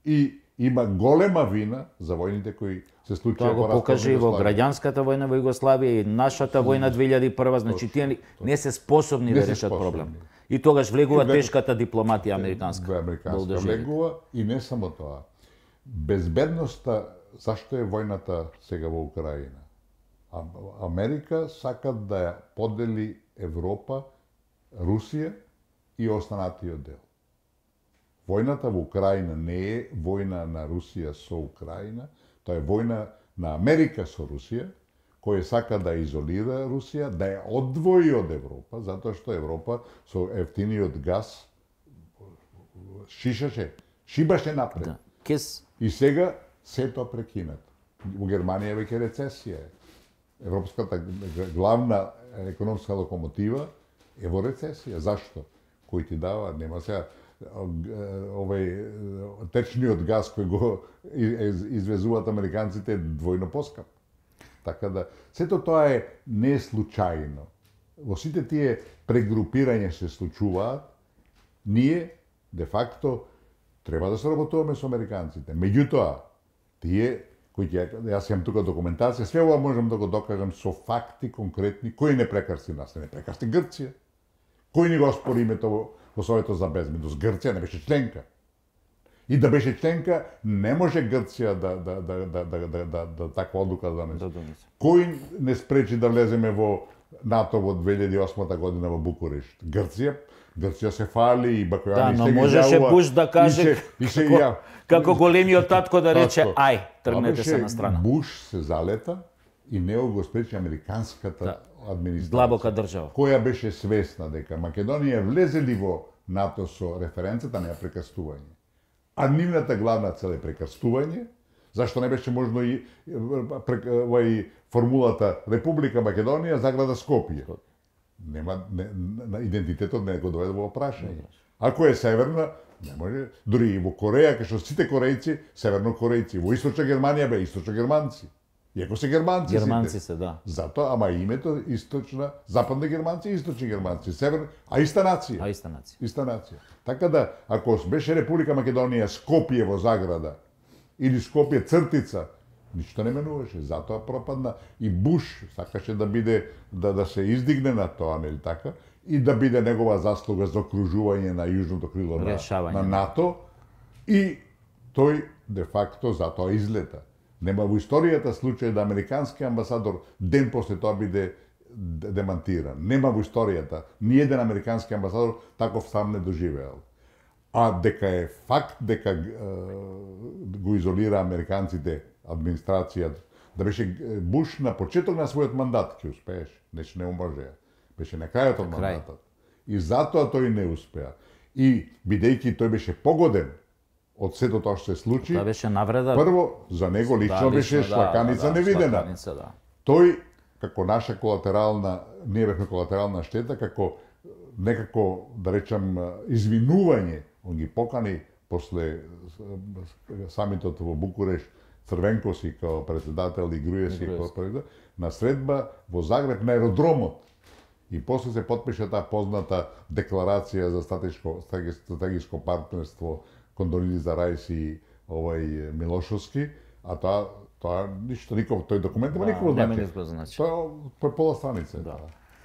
и има голема вина за војните кои се случија во распадот. Тоа го покаже и во граѓанската војна во Југославија и нашата војна 2001, значи тие не се способни да решат проблем. И тогаш влегува тешката дипломатија американска. Американска влегува и не само тоа. Безбедноста, зашто е војната сега во Украина? Америка сака да ја подели Европа, Русија и останатиот дел. Војната во Украина не е војна на Русија со Украина, тоа е војна на Америка со Русија, кој сака да изолира Русија, да ја одвои од Европа, затоа што Европа со ефтиниот газ шибаше напред. Да. И сега се тоа прекинато. Во Германија веќе рецесија е. Европската главна економска локомотива е во рецесија. Зашто? Кој ти дава, нема сега течниот газ кој го извезуваат американците двојно поскап. Така да, сето тоа е не случајно. Во сите тие прегрупирања се случуваат, ние, де факто, треба да се работуваме со американците. Меѓутоа, тие, кои јас имам тука документација, све ова можам да го докажам со факти конкретни, кој не прекрсти нас, не прекрсти Грција. Кој ни го оспори името во Советот за безбедност? Грција не беше членка. И да беше членка, не може Грција да таква одлука да донесе. Кој не спречи да влеземе во НАТО во 2008 година во Букурешт? Грција се фали и Бакојани но можеше Буш да каже како големиот татко да рече ај, тргнете се на страна. Буш се залета и него го спречи американската администрација. Длабока држава. Која беше свесна дека Македонија влезели во НАТО со референцата на прекрстување. А нивната главна цел е прекрстување, зашто не беше можно и формулата Република Македонија заграда Скопје. Нема идентитетот не го доведе во прашање. Ако е северна, не може, дури и во Кореја, кај што сите корејци, севернокорејци, во источна Германија бе источно германци. Иако се германци се, да. Затоа, ама името источна, западни германци, источни германци, север, а иста нација. Иста нација. Така да, ако беше Република Македонија Скопје во заграда, или Скопје цртица, ништо не менуваше, затоа пропадна. И Буш сакаше да биде, да се издигне на тоа, нели така, и да биде негова заслуга за окружување на јужното крило на НАТО, и тој, де факто, затоа излета. Нема во историјата случај да американски амбасадор ден после тоа биде демантиран. Нема во историјата ниеден американски амбасадор таков сам не доживеал. А дека е факт дека го изолира американците администрацијата, да беше Буш на почеток на својот мандат ќе успееше, нешто не можеа. Беше на крајот од мандатот. И затоа тој не успеа. И бидејќи тој беше погоден од сето тоа што се случи, тоа беше навреда. Прво за него лично беше шлаканица невидена. Тој како наша колатерална, ние бевме колатерална штета, како некако да речам извинување, он ги покани после самитот во Букурешт Црвенкоси као председател и Груевски као председател на средба во Загреб на аеродромот. И после се потпиша таа позната декларација за стратешко партнерство Кондолиза Рајс и Милошовски, а тоа ништо ников тој документ нема никакво значење. Тоа е пола страница.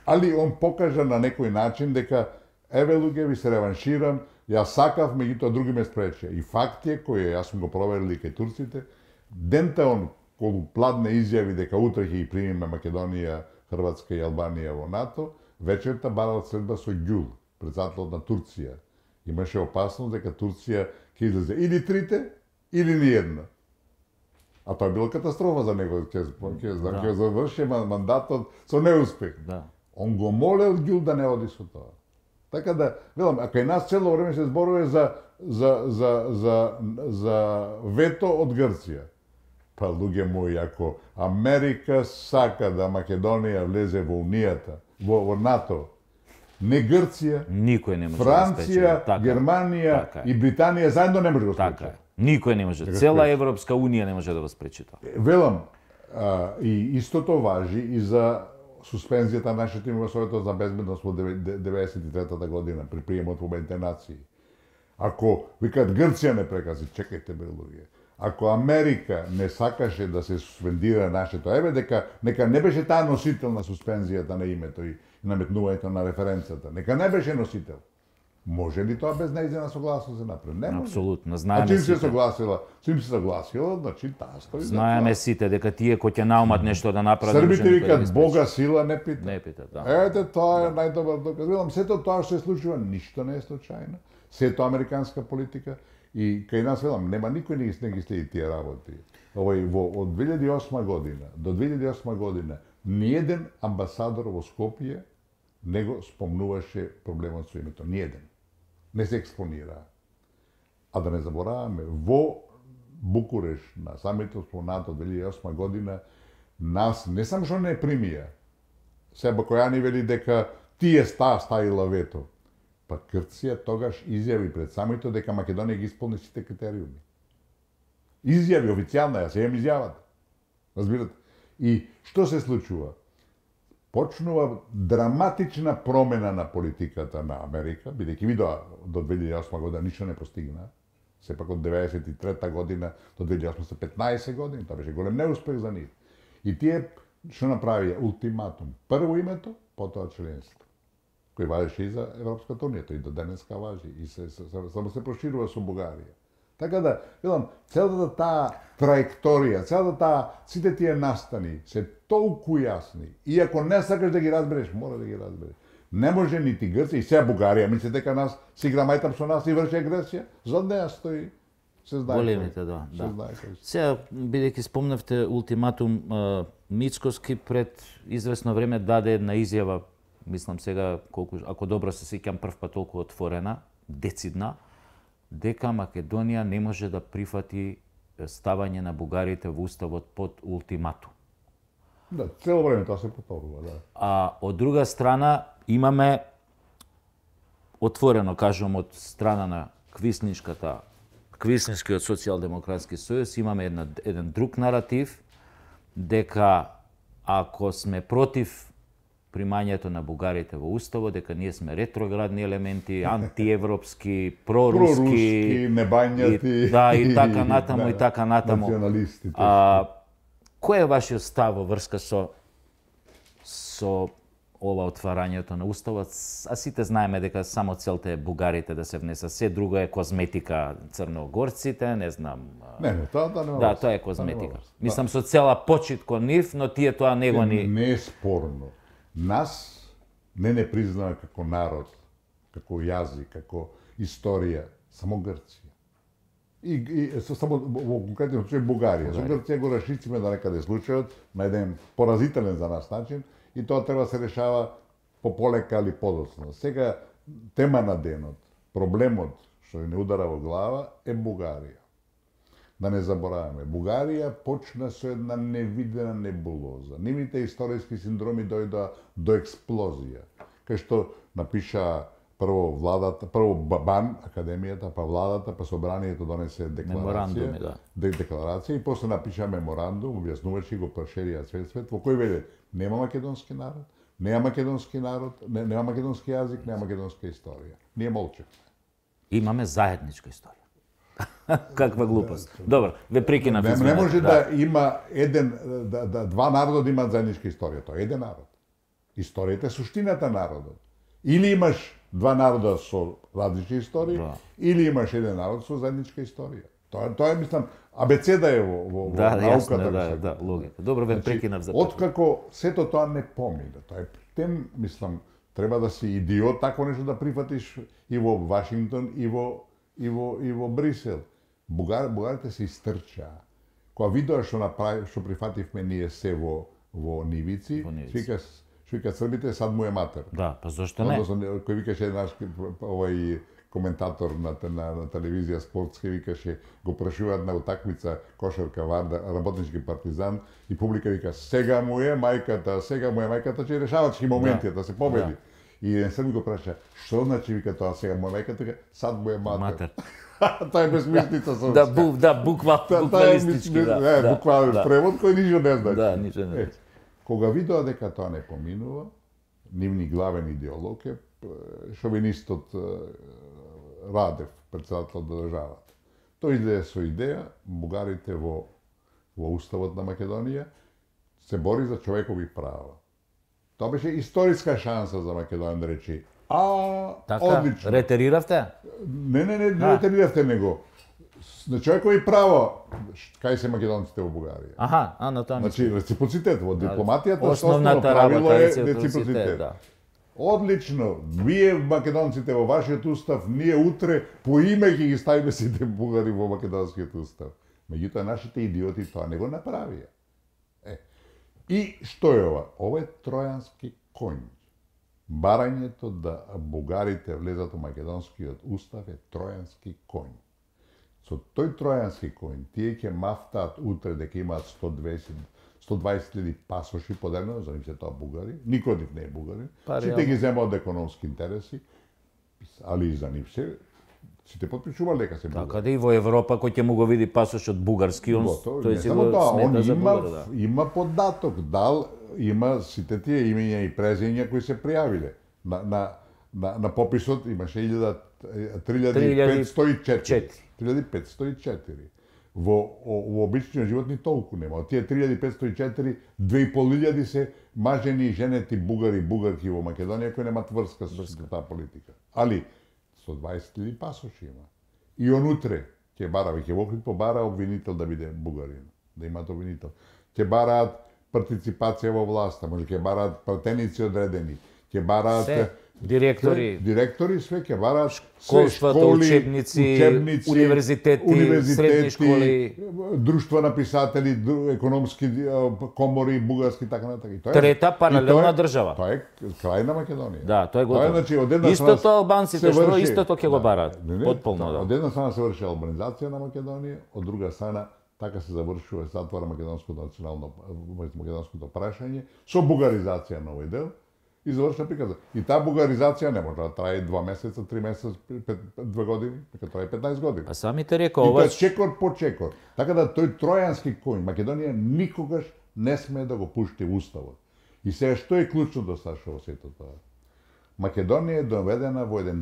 Али он покажа на некој начин дека еве луѓе ви се реванширам, јас сакав, меѓутоа други ме спречија. И факт е кој јас сум го проверил и кај турците, дента он кога пладне изјави дека утре ќе ги примиме Македонија, Хрватска и Албанија во НАТО, вечерта барал следба со Ѓул, председателот на Турција. Имаше опасност дека Турција ќе излезе или трите, или ниедна. А тоа било катастрофа за него, ќе заврши мандатот со неуспех. Он го молел Ѓул да не оди со тоа. Така да, велам, а кај нас цело време се зборува за вето од Грција. Па, луѓе мои, ако Америка сака да Македонија влезе во Унијата, во НАТО, не Грција, никој не може Франција, да Германија и Британија заедно не може да го спречи. Така, никој не може. Цела Европска Унија не може да го спречи тоа. Велам, и истото важи и за суспензијата на нашето име во Советот за безбедност во 1993 година при приемот во Обединетите нации. Ако викаат Грција не прекази, чекајте бе луѓе. Ако Америка не сакаше да се суспендира нашето, еве дека нека не беше таа носител на суспензијата на името и наметнувањето на референцата, нека не беше носител. Може ли тоа без нејзина согласност се направи? Не може. Апсолутно, знаеме сите. А чим се согласила, значи таа стои. Знаеме сите дека тие кои ќе наумат нешто да направат. Србите викаат Бога сила не пита. Не пита, да. Ете, тоа е најдобар доказ. Велам, сето тоа што се случува, ништо не е случајно. Сето американска политика и кај нас велам, нема никој не ги следи тие работи. Од 2008 година до 2008 година ниеден амбасадор во Скопје не го спомнуваше проблемот со името. Ниеден. Не се експонира. А да не забораваме, во Букуреш, на самитот во НАТО 2008 година, нас не само што не примија, Себа Којани вели дека тие ставила вето. Па Грција тогаш изјави пред самитот дека Македонија ги исполни сите критериуми. Изјави официјална, ја се имам изјавата. Разбирате? И што се случува? Почнува драматична промена на политиката на Америка, бидејќи видоа до 2008 година ништо не постигна. Сепак од 1993 година до 2008 се 15 години, тоа беше голем неуспех за нив. И тие што направија? Ултиматум. Прво името, потоа членство. Кој важеше и за Европската унија, тој и до денеска важи. И само се проширува со Бугарија. Така да, велам, целата таа траекторија, целата таа, сите тие настани се толку јасни. И ако не сакаш да ги разбереш, мора да ги разбереш. Не може нити Грција и сега Бугарија, мисли дека нас си игра мајтап со нас и врши агресија, зад неа стои. Се знае. Големите, да. Сега, бидејќи спомнавте ултиматум, Мицкоски пред известно време даде една изјава, мислам сега, колку, ако добро се сеќам, прв пат толку отворена, децидна, дека Македонија не може да прифати ставање на бугарите во уставот под ултиматум. Да, цело време тоа се повторува, да. А од друга страна имаме отворено, кажувам, од страна на Квиснишкиот социјалдемократски сојуз, имаме еден друг наратив дека ако сме против примањето на бугарите во уставот, дека ние сме ретроградни елементи, антиевропски, проруски, небањати, да, и така натаму, и така натаму. Националистите. Кој е вашиот став во врска со ова отварањето на уставот? А сите знаеме дека само целта е бугарите да се внесат, се друго е козметика, црногорците, не знам. Не, тоа нема. Да, тоа е козметика. Мислам со цела почит кон нив, но тие тоа не го ни... Не е спорно. Нас не признава како народ, како јазик, како историја, само Грција. И само во конкретен случај Бугарија. Со Грција го расшириме да некаде случајот на еден поразителен за нас начин и тоа треба да се решава полека или подоцна. Сега тема на денот, проблемот што не удара во глава е Бугарија. Да не забораваме, Бугарија почна со една невидена небулоза. Нивните историски синдроми дојдоа до експлозија. Кај што напиша прво владата, прво БАН, академијата, па владата, па собранието донесе декларација, декларација и после напиша меморандум, објаснуваше го проширија свет, во кој веле нема македонски народ, нема македонски народ, нема македонски јазик, нема македонска историја. Ние молчевме. Имаме заедничка историја. Каква глупост. Добро, ве прекинав. Не може да има два народа да имаат заедничка историја, тоа е еден народ. Историјата е суштината народот. Или имаш два народа со различни истории, или имаш еден народ со заедничка историја. Тоа е, мислам, абецеда е во науката. Да, логика. Добро, ве прекинав за тоа. Откако сето тоа не помина, тоа е тем, мислам, треба да си идиот такво нешто да прифатиш и во Вашингтон и во Брисел. Бугарите се истрчаа. Кога видоа што прифативме ние се во нивици, вика Србите, сад му е матер. Да, па зошто не? Кој викаше наш овој коментатор на телевизија спортска, викаше, го прашуваат на утакмица кошарка Варда, работнички партизан, и публика вика, сега му е мајката, че решавачки моменти да се победи. И еден Срб го праша, што значи, вика тоа, сега му е мајката, сад му е матер. Тоа е безмислица српска. Буквалистички, да. Буквален превод кој ништо не значи. Да, ништо не значи. Кога видоа дека тоа не поминува, нивни главен идеолог е шовинистот Радев, председател на државата. Тој излезе со идеја, бугарите во уставот на Македонија се бори за човекови права. Тоа беше историска шанса за Македонија да речи, одлично. Ретериравте? Не ретериравте него. На човекови права, кај се македонците во Бугарија. На тоа значи, реципроцитет во дипломатијата, основната правило е реципроцитет. Одлично, вие македонците во вашиот устав, ние утре по име ќе ги ставиме сите бугари во македонскиот устав. Меѓутоа, нашите идиоти тоа не го направија. И што е ова? Ова е тројански конј. Барањето да бугарите влезат во македонскиот устав е тројански конј. Со тој тројански коњ, тие ќе мафтаат утре дека имаат 120.000 пасоши поделено, за нив се тоа бугари, никој од нив не е бугарин, сите ги земаат од економски интереси, али и за нив се, сите потпишувале дека се бугари. Така да и во Европа кој ќе му го види пасошот бугарски, тој си го смета за бугар, да. Има податок, дал има сите тие имења и презења кои се пријавиле. На пописот имаше 3504. Во обичниот живот ни толку нема. Од тие 3504, 2500 се мажени и женети бугари и бугарки во Македонија кои немаат врска со таа политика. Али 120.000 пасоши има. И онутре ќе бара, ќе во Охрид побара обвинител да биде бугарин, да имаат обвинител. Ќе бараат партиципација во власта, може ќе бараат пратеници одредени, ќе бараат директори, све ќе бараат школствата, учебници, универзитети, средни школи, друштва на писатели, економски комори, бугарски така натака. Трета паралелна држава. Тоа е крај на Македонија. Да, тоа е готово. Истото албанците што истото ќе го бараат. Потполно, да. Од една страна се врши албанизација на Македонија, од друга страна така се завршува, се затвара македонското прашање со бугаризација на овој дел. И завршна приказа. И таа бугаризација не може да трае 2 месеца, 3 месеца, 2 години, нека трае 15 години. А самите рекоа ова чекор по чекор. Така да тој тројански коњ Македонија никогаш не сме да го пушти в уставот. И сега што е клучното Сашо во сето тоа? Македонија е доведена во еден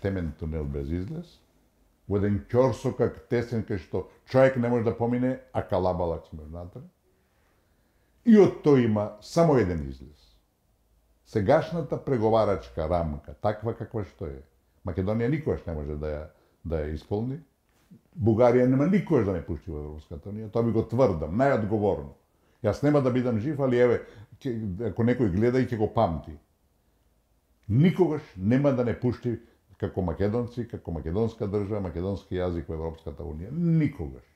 темен тунел без излез, во еден ќорсокак тесен кај што човек не може да помине, а калабалак сме внатре. И од тоа има само еден излез. Сегашната преговарачка рамка, таква каква што е, Македонија никогаш не може да ја исполни. Бугарија нема никогаш да не пушти во Европската унија, тоа би го тврдам, најодговорно. Јас нема да бидам жив, али еве, ако некој гледа и ќе го памти. Никогаш нема да не пушти како македонци, како македонска држава, македонски јазик во Европската унија. Никогаш.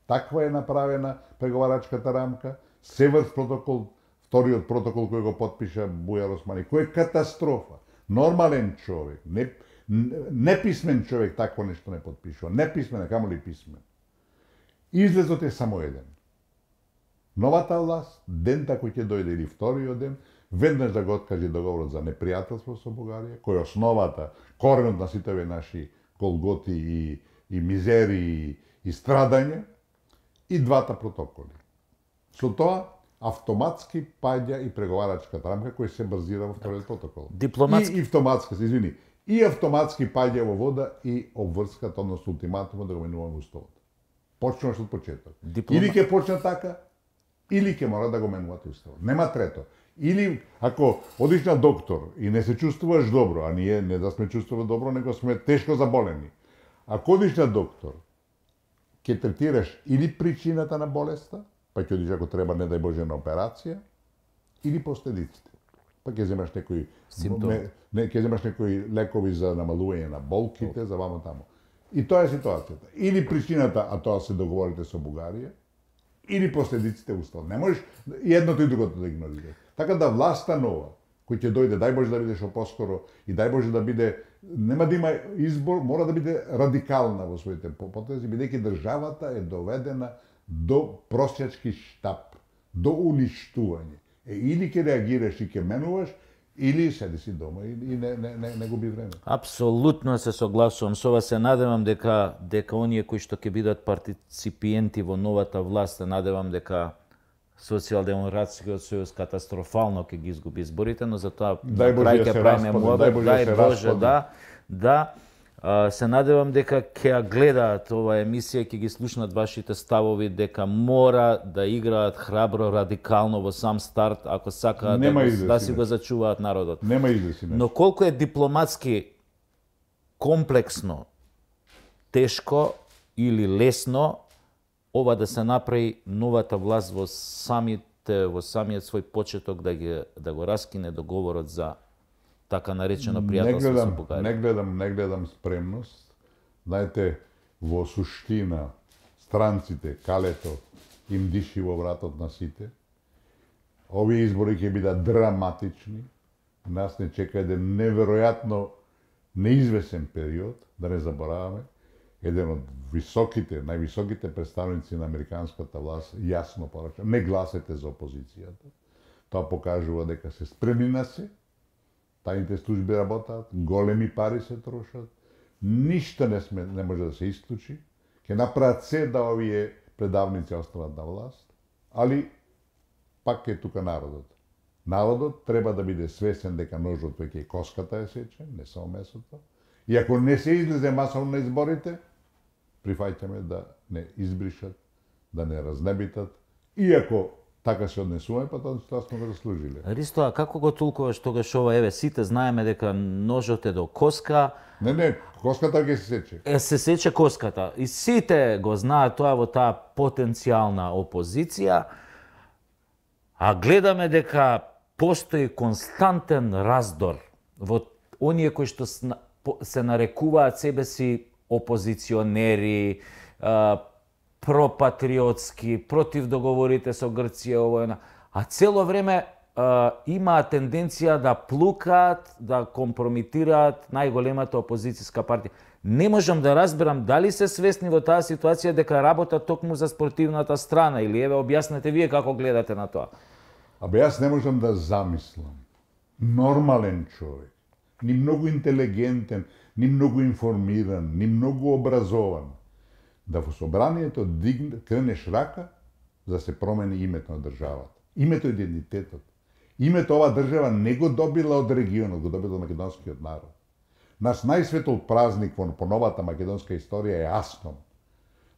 Таква е направена преговарачката рамка, Северс протокол, вториот протокол кој го потпиша Бујар Османи, кој е катастрофа. Нормален човек, неписмен човек такво нешто не потпишува. Неписмен, камоли писмен. Излезот е само еден. Новата власт, дента кој ќе дојде или вториот ден, веднаш да го откаже договорот за непријателство со Бугарија, кој е основата, коренот на сите овие наши голготи и мизери и страдања, и двата протоколи. Со тоа автоматски паѓа и преговарачката рамка која се базира во вториот протокол. Дипломатски. И автоматски, извини, и автоматски паѓа во вода и обврската, односно ултиматумот да го менуваме уставот. Почнуваш од почеток. Или ќе почне така, или ќе мора да го менувате уставот. Нема трето. Или ако одиш на доктор и не се чувствуваш добро, а ние не да сме чувствували добро, него сме тешко заболени. Ако одиш на доктор, ќе третираш или причината на болеста, па ќе одиш ако треба, не дај Боже, на операција, или последиците. Па ќе земаш некои ќе земаш некои лекови за намалување на болките, за вамо тамо. И тоа е ситуацијата. Или причината, а тоа се договорите со Бугарија, или последиците уставот. Не можеш и едното и другото да игнорираш. Така да власта нова, кој ќе дојде, дај Боже да биде што поскоро и дај Боже да биде, нема да има избор, мора да биде радикална во своите потези, бидејќи државата е доведена до просјачки штап, до уништување. Или ќе реагираш и ќе менуваш, или седи си дома и не губи време. Апсолутно се согласувам со вас. Се надевам дека оние кои што ќе бидат партиципиенти во новата власт, се надевам дека Социјалдемократскиот сојуз катастрофално ќе ги изгуби изборите, но за тоа на крај ќе правиме муабет, дај Боже, да. Се надевам дека ќе ја гледаат оваа емисија, ќе ги слушнат вашите ставови, дека мора да играат храбро, радикално во сам старт, ако сакаат да си го зачуваат народот. Нема излеси. Но колку е дипломатски комплексно, тешко или лесно ова да се направи новата власт во самиот свој почеток да го раскине договорот за така наречено пријателство со Бугарија. Не гледам спремност. Знаете, во суштина странците, калето, им диши во вратот на сите. Овие избори ќе бидат драматични. Нас не чека еден неверојатно неизвесен период, да не забораваме. еден од највисоките представници на американската власт јасно порача, не гласете за опозицијата. Тоа покажува дека се спремни на се, тајните служби работат, големи пари се трошат, ништо не може да се исклучи, ќе направат се да овие предавници останат на власт, али пак е тука народот. Народот треба да биде свесен дека ножот веќе коската е сече, не само месото. И ако не се излезе масовно на изборите, прифаќаме да не избришат, да не разнебитат, иако така се однесуваме, па тоа сме го заслужили. Ристо, а како го толкуваш тогаш ова? Еве, сите знаеме дека ножот е до коска. Не, коската ќе се сече. Се сече коската. И сите го знаат тоа во таа потенцијална опозиција, а гледаме дека постои константен раздор во оние кои што се нарекуваат себе си опозиционери, пропатриотски, против договорите со Грција, а цело време имаат тенденција да плукаат, да компромитираат најголемата опозицијска партија. Не можам да разберам дали се свесни во таа ситуација дека работат токму за спортивната страна, или еве објаснете вие како гледате на тоа. Абе, јас не можам да замислам нормален човек, ни многу интелигентен, ни многу информиран, ни многу образован, да во собранието кренеш рака за да се промени името на државата. Името и идентитетот. Името ова држава не го добила од регионот, го добила од македонскиот народ. Наш најсветол празник по новата македонска историја е Асном.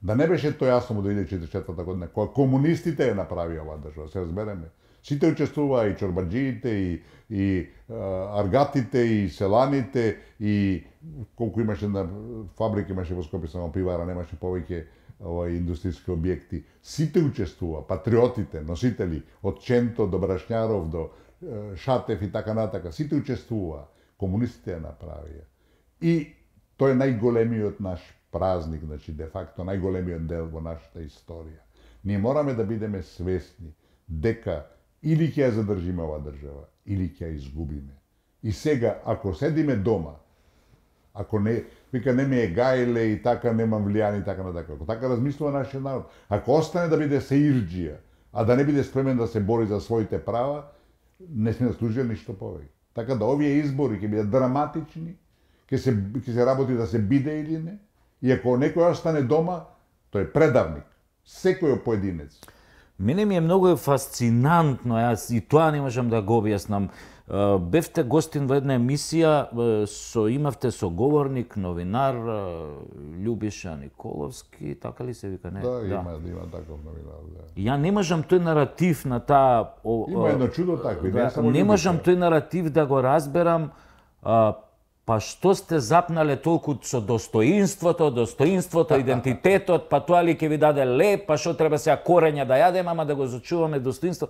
Да не беше тој Асном од 2044 година, кога комунистите ја направи оваа држава, се разбереме. Сите учествуваа, и чорбаджиите, и аргатите, и селаните, и колку имаше на фабрики, имаше во Скопје само пивара, немаше повеќе индустријски објекти. Сите учествуваа, патриотите, носители, од Ченто до Брашњаров, до Шатев и така натака, сите учествуваа. Комунистите ја направија. И тој е најголемиот наш празник, значи, де факто, најголемиот дел во нашата историја. Ние мораме да бидеме свесни дека или ќе ја задржиме оваа држава, или ќе ја изгубиме. И сега, ако седиме дома, ако не, вика не ме е гајле и така немам влијани и така натака, ако така размислува нашиот народ, ако остане да биде сеирџија, а да не биде спремен да се бори за своите права, не сме заслужили ништо повеќе. Така да овие избори ќе бидат драматични, ќе се работи да се биде или не, и ако некој остане дома, тој е предавник, секој поединец. Мене ми е многу фасцинантно, јас и тоа не можам да го објаснам. Бевте гостин во една емисија, имавте соговорник, новинар Љубиша Николовски, така ли се вика, не? Да, има таков новинар, да. Ја не можам тој наратив на таа... Има едно чудо такви, не само не можам тој наратив да го разберам, па што сте запнале толку со достоинството, идентитетот, па тоа ли ќе ви даде леп, па што треба сега корења да јадеме, ама да го зачуваме достоинство.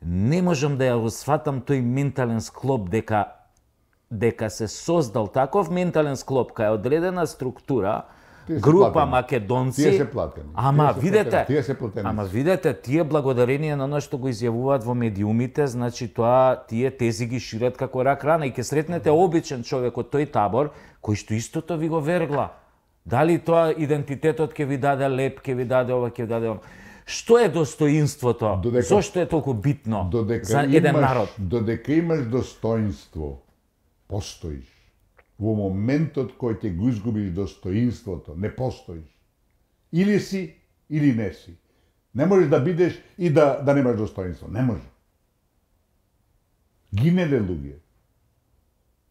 Не можам да ја го сватам тој ментален склоп дека се создал таков ментален склоп кај одредена структура, група македонци. Тие се платени. Ама видете, тие благодарение на оно што го изјавуваат во медиумите, значи тоа тие тези ги шират како рак рана и ќе сретнете обичен човек од тој табор кој што истото ви го вергла. Дали тоа идентитетот ќе ви даде леп, ќе ви даде ова, ќе ви даде оно. Што е достоинството? Зошто е толку битно за еден народ? Додека имаш достоинство, постоиш. Во моментот кој ќе го изгубиш достоинството, не постоиш. Или си, или не си. Не можеш да бидеш и да немаш достоинство. Не може. Гинеле луѓе.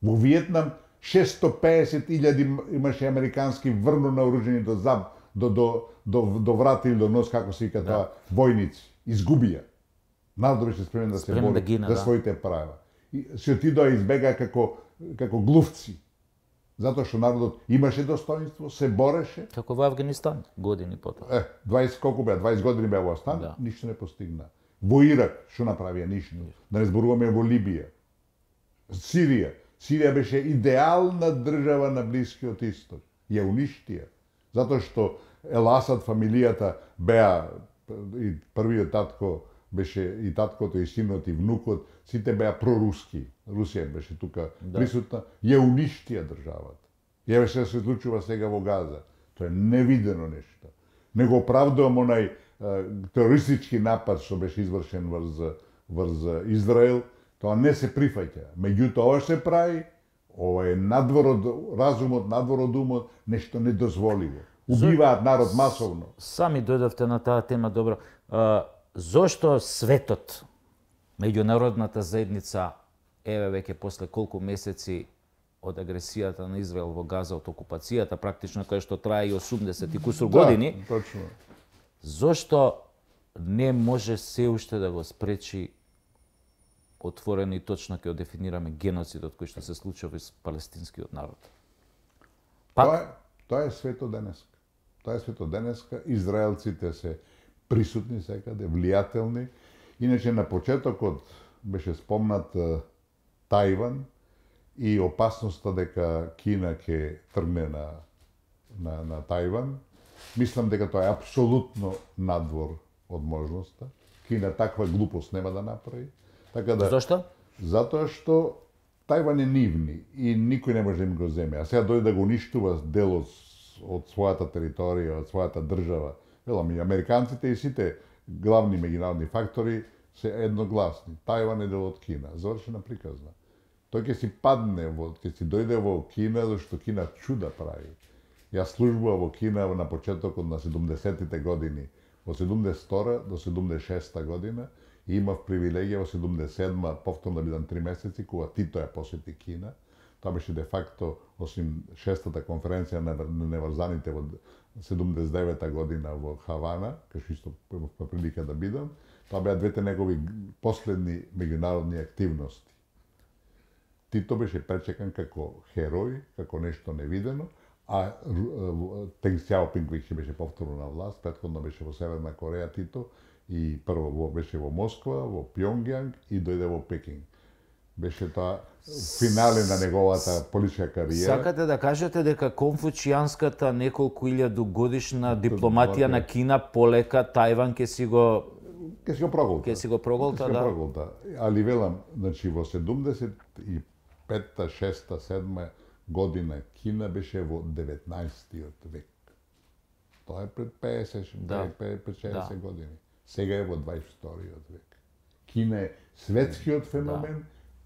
Во Виетнам 650.000 имаше американски врно наоружени до врата или до нос, како се вика тоа, војници. Изгубија. Народот беше спремен да се бори за своите права. И се отидоа избега како глувци. Затоа што народот имаше достоинство, се бореше. Како во Авганистан, години потоа. 20 години беа во Авганистан, ништо не постигна. Во Ирак, што направија? Ништо. Да не зборуваме во Либија. Сирија. Сирија беше идеална држава на Блискиот Исток. Ја уништија. Затоа што Ел Асад фамилијата беа, и првиот татко беше и таткото, и синот, и внукот, сите беа проруски. Русија беше тука присутна, ја уништија државата. Ја беше се случува сега во Газа. Тоа е невидено нешто. Не го оправдувам онај терористички напад што беше извршен врз Израел, тоа не се прифаќа. Меѓутоа, ова се прави, ова е надвор од разумот, надвор од умот, нешто недозволиво. Убиваат народ масовно. Сами дојдовте на таа тема, добро. Зошто светот, меѓународната заедница, еве веќе после колку месеци од агресијата на Израел во Газа, од окупацијата, практично кај што трае и 80 и кусур години, точно. Зошто не може се уште да го спречи отворено и точно ќе дефинираме геноцидот кој што се случува со палестинскиот народ? Тоа е свето денеска. Тоа е свето денеска. Израелците се присутни секаде, влијателни. Иначе на почетокот беше спомнат Тајван и опасноста дека Кина ќе тргне на Тајван. Мислам дека тоа е апсолутно надвор од можноста. Кина таква глупост нема да направи. Така да, Зошто? Затоа што Тајван е нивни и никој не може да им го земе. А сега дојде да го уништува дел од својата територија, од својата држава. Велам, и американците и сите главни меѓународни фактори се едногласни. Тајван е дел од Кина. Завршена приказна. Тој ќе си падне, ќе си дојде во Кина, зашто Кина чуда прави. Јас службував во Кина на почетокот на 70-тите години, во 72 до 76 година, и имав привилегија во 77 повторно да бидам 3 месеци, кога Тито ја посети Кина. Тоа беше де факто, осим 6-та конференција на неврзаните во 79 година во Хавана, кај што исто имав прилика да бидам, тоа беа двете негови последни меѓународни активности. Тито беше пречекан како херој, како нешто невидено, а Тенг Сјаопинг веќе беше повторно на власт, претходно беше во Северна Кореја Тито, и прво беше во Москва, во Пјонгјанг и дојде во Пекинг. Беше тоа финале на неговата политичка кариера. Сакате да кажете дека конфуцијанската неколку илјаду годишна дипломатија на Кина полека Тајван ќе си го проголта. Ќе си го проголта, да. Проголта. Али велам, значи во 75-та, 6-та, 7-та година Кина беше во 19-тиот век. Тоа е пред 50-60 години. Сега е во 22-тиот век. Кина е светскиот феномен,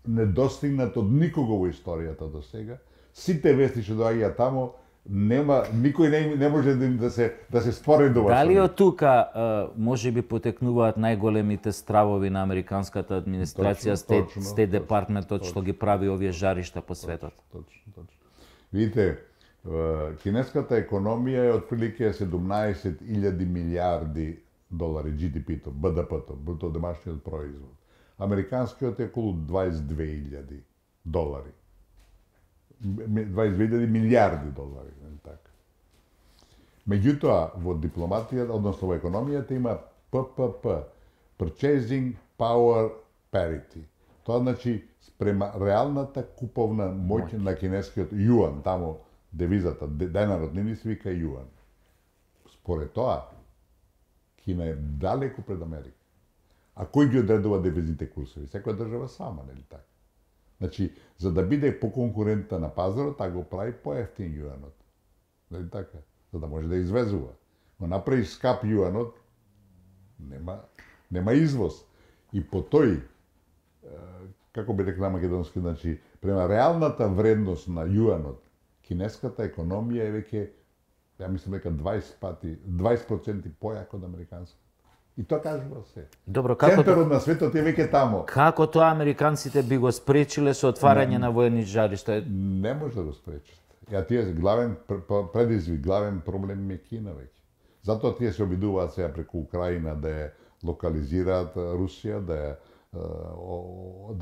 недостигнат од никого во историјата до сега. Сите вести што доаѓаат тамо, никој не може да се споредува. Дали од тука можеби потекнуваат најголемите стравови на американската администрација, Стейт департментот што ги прави овие жаришта по светот? Точно. Видите, кинеската економија е отприлике 17.000 милиарди долари GDP-то, БДП-то, бруто домашниот производ. Американскиот е околу 22.000 долари. 22.000 милиарди долари, така. Меѓутоа, во дипломатијата, односно во економијата има ППП, Purchasing Power Parity. Тоа значи спрема реалната куповна моќ на кинескиот јуан, тамо девизата, денарот нини се вика јуан. Според тоа, Кина е далеку пред Америка. А кој ги одредува девизните курсови? Секоја држава сама, нели така? Значи, за да биде поконкурентна на пазарот, таа го прави поевтин јуанот. Нели така? За да може да извезува. Но направи скап јуанот, нема извоз. И по тој, како би рекла македонски, значи, према реалната вредност на јуанот, кинеската економија е веќе, ја мислам дека 20% појако од американската. И тоа кажува се. Добро, центарот на светот е веќе тамо. Како тоа американците би го спречиле со отварање на воени жаришта? Не може да го спречат. Ја тие главен предизвик, главен проблем е Кина веќе. Затоа тие се обидуваат сега преку Украина да ја локализираат Русија, да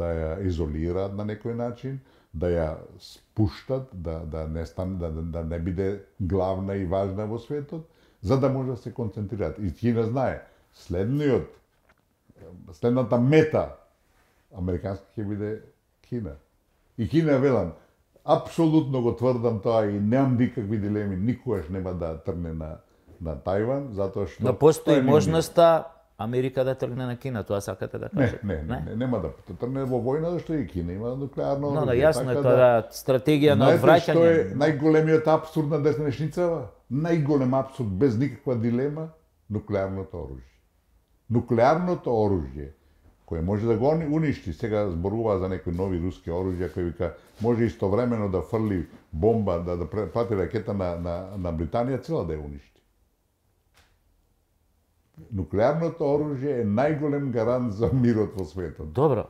ја изолираат на некој начин, да ја спуштат, да не биде главна и важна во светот, за да може да се концентрираат. И Кина знае, следната мета американска ќе биде Кина. И Кина, велам, апсолутно го тврдам тоа и немам никакви дилеми, никогаш нема да тргне на Тајван, затоа што... Но постои можноста Америка да тргне на Кина, тоа сакате да кажете? Не, нема да тргне во војна, зашто и Кина има нуклеарно оружје. Но јасно е тоа стратегија на одвраќање. Знаете што е најголемиот апсурд на деснешницава? најголем апсурд без никаква дилема нуклеарното оружје. Нуклеарното оружје кој може да го уништи, сега зборува за некои нови руски оружја, кој вика може истовремено да фрли бомба, да прати ракета на Британија, цела да ја уништи. Нуклеарното оружје е најголем гарант за мирот во светот. Добро.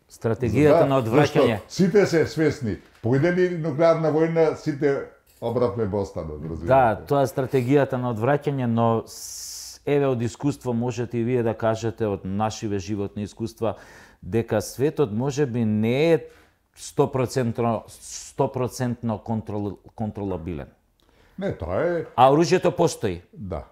Стратегијата на одвраќање. Сите се свесни. Појде ли нуклеарна војна, сите обратно во останот. Да, тоа е стратегијата на одвраќање, но еве од искуство можете и вие да кажете од нашиве животни искуства дека светот можеби не е 100% контролабилен. Не, тоа е... А оружјето постои. Да.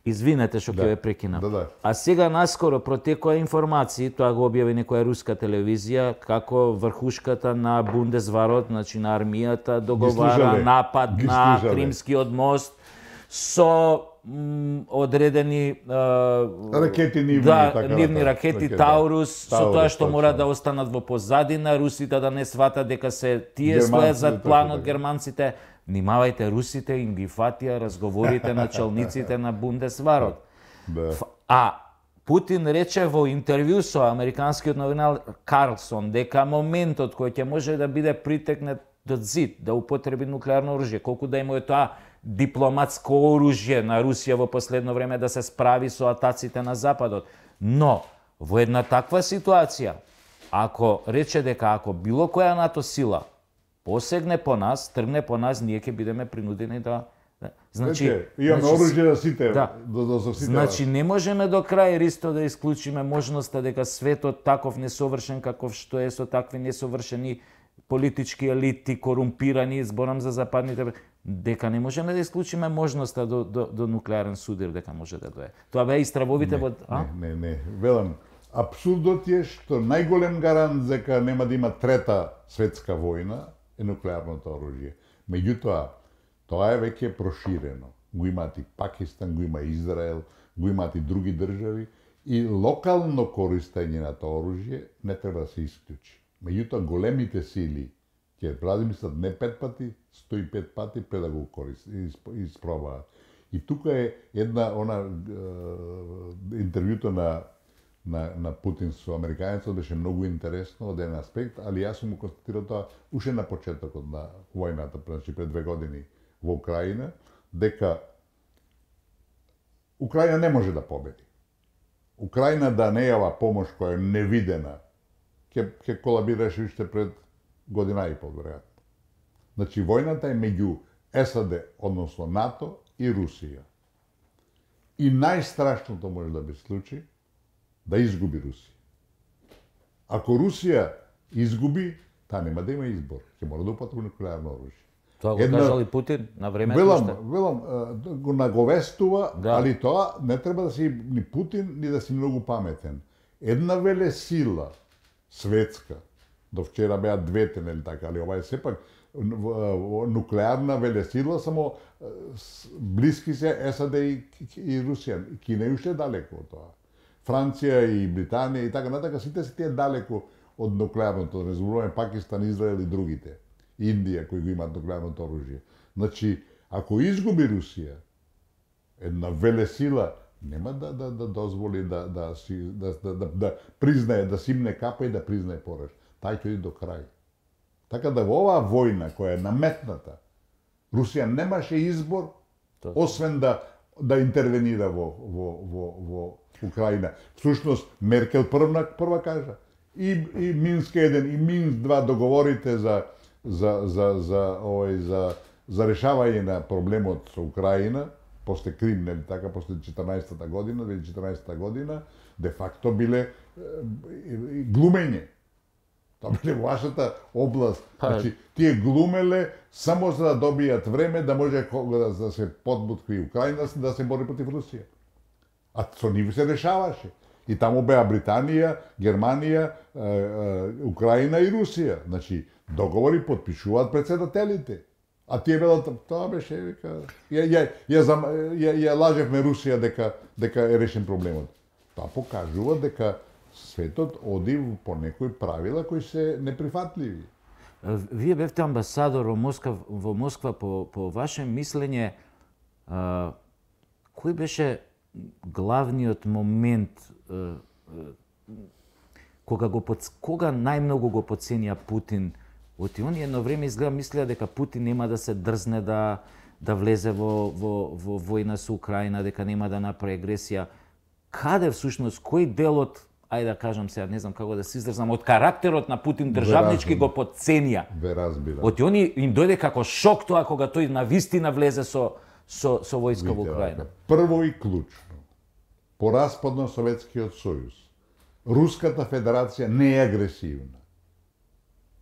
Извинете што ќе ве прекинам. Да. А сега наскоро протекоа информации, тоа го објави некоја руска телевизија, како врхушката на Бундесварот, значи на армијата, договара напад на Кримскиот мост со одредени ракети нивни ракети Таурус, со тоа што мора да останат во позадина, русите да не сватат дека се тие стојат зад планот, германците. Внимавајте, русите им ги фатија разговорите на челниците на Бундесварот. А Путин рече во интервју со американскиот новинар Карлсон дека моментот кој ќе може да биде притекнат до зид, да употреби нуклеарно оружје, колку да има тоа дипломатско оружје на Русија во последно време да се справи со атаците на Западот. Но, во една таква ситуација, ако рече дека ако било која НАТО сила посегне по нас, тргне по нас, ние ќе бидеме принудени да... Значи, имаме оружје да сите, да сите. Значи, не можеме до крај ристо да исклучиме можноста дека светот таков несовршен каков што е со такви несовршени политички елити, корумпирани, зборам за западните, дека не можеме да исклучиме можноста до нуклеарен судир дека може да дое. Тоа беа истравовите во... Не. Велам, апсурдот е што најголем гарант дека нема да има трета светска војна е нуклеарното оружје. Меѓутоа, тоа е веќе проширено. Го имаат и Пакистан, го има Израел, го имаат и други држави и локално користење на тоа оружје не треба да се исклучи. Меѓутоа, големите сили ќе размислат не 5 пати, 105 пати пред да го испробаат. И тука е една интервјуто на Путин со американецот беше многу интересно од еден аспект, али јас сум констатирал тоа уште на почетокот на војната, значи пред 2 години во Украина, дека Украина не може да победи. Украина да не јава помош која е невидена, ќе колабираше уште пред година и пол, веројатно. Значи, војната е меѓу САД, односно НАТО и Русија. И најстрашното може да би случи да изгуби Русија. Ако Русија изгуби, таа нема да има избор. Ќе мора да употреби нуклеарно оружје. Тоа го кажал и Путин на времето уште. Велам, го наговестува, али тоа не треба да си ни Путин, ни да си многу паметен. Една велесила светска, до вчера беа двете, нели така, али ова е сепак нуклеарна велесила, само блиски се САД и Русија. Кина е уште далеко од тоа. Франција и Британија и така натака, сите се тие далеко од нуклеарното, не зборуваме Пакистан, Израел и другите. Индија, кои го имаат нуклеарното оружје. Значи, ако изгуби Русија, една велесила нема да дозволи да признае, да симне капа и да признае пораж. Тај ќе иде до крај. Така да во оваа војна која е наметната, Русија немаше избор освен да интервенира во Украина. Всушност Меркел прва кажа и Минск 1 и Минск 2 договорите за решавање на проблемот со Украина, после Крим, нели така, после 2014 година, де факто биле глумење. Тоа биле вашата област. Значи, тие глумеле само за да добијат време да може да се подбуткви Украина да се бори против Русија. А со нив се решаваше. И таму беа Британија, Германија, Украина и Русија. Значи, договори подпишуваат председателите. А тие велат, тоа беше, вика, ја лажевме Русија дека е решен проблемот. Тоа покажува дека светот оди по некои правила кои се неприфатливи. Вие бевте амбасадор во Москва по ваше мислење, кој беше главниот момент кога најмногу го потценија Путин? Оти они едно време изгледа мислеа дека Путин нема да се дрзне да влезе во војна со Украина, дека нема да направи агресија. Каде всушност, кој дел од, ајде да кажам сега, не знам како да се изразам, од карактерот на Путин државнички го потценија? Ве разбирам. Оти они им дојде како шок тоа кога тој навистина влезе со војска во Украина. Прво и клучно, по распад на Советскиот сојуз, Руската федерација не е агресивна.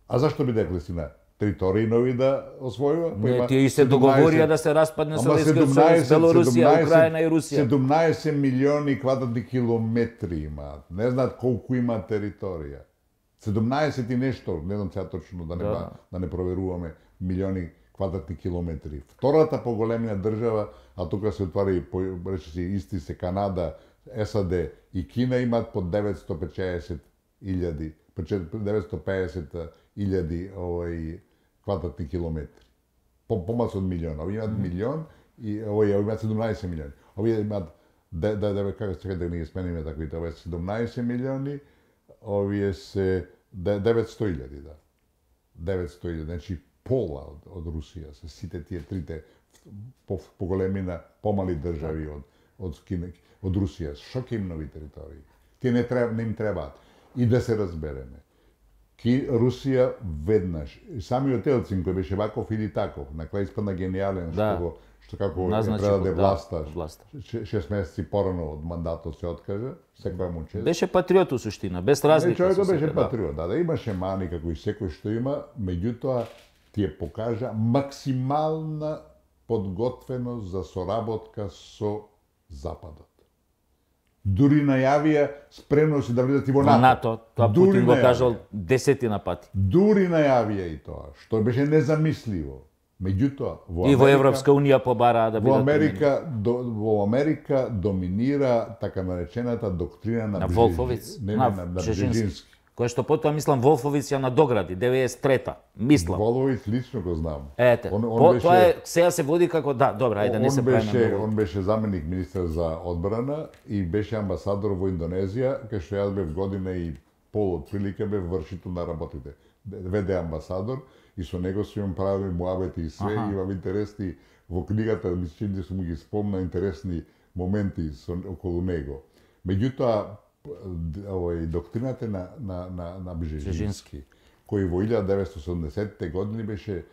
А зашто биде агресивна? Територии нови да освојува? Не, тие и се договорија да се распадне Советскиот сојуз, Белорусија, Украина и Русија. 17 милиони квадратни километри имаат. Не знаат колку има територија. 17 и нешто, не знам сега точно да не проверуваме, милиони квадратни километри. Втората поголемија држава, а тука се отвари, речиси, исти се Канада, САД и Кина имаат по 950.000 квадратни километри. Помалку од милион. Овие имаат милион и овие имаат 17 милиони. Овие имаат како се да не ги смениме таквите, овие 17 милиони, овие се 900.000, да. 900.000, значи пола од Русија, се сите тие трите поголемина помали држави од Русија. Што ќе им нови територии? Тие не им требаат. И да се разбереме. Русија веднаш, самиот Елцин кој беше ваков или таков, на крај испадна гениален, што како ја предаде власта, 6 месеци порано од мандатот се откажа, секоја му чест. Беше патриот у суштина, без разлика. Човекот беше патриот, да, имаше мани како и секој што има, меѓутоа тие покажа максимална подготвеност за соработка со Западот. Дури најавија спремност да влезат и во НАТО. Тоа Путин го кажал 10 пати. Дури најавија и тоа, што беше незамисливо. Меѓутоа, во Европска унија побараа да бидат во Америка доминира така наречената доктрина на Волфовиц, на Бжежински. Кој што потоа мислам Волфовиц ја надогради 93-та, мислам. Волфовиц лично го знам. Ете, тоа е сега се води како добра, ајде да не се правиме. Он беше заменик министер за одбрана и беше амбасадор во Индонезија, кај што јас бев година и пол отприлика бев вршител на работите. ВД амбасадор и со него се имам правили муабети и све, имам интересни во книгата, мислам дека сум ги спомна интересни моменти околу него. Меѓутоа доктрината на Бжежински, кој во 1970-те години беше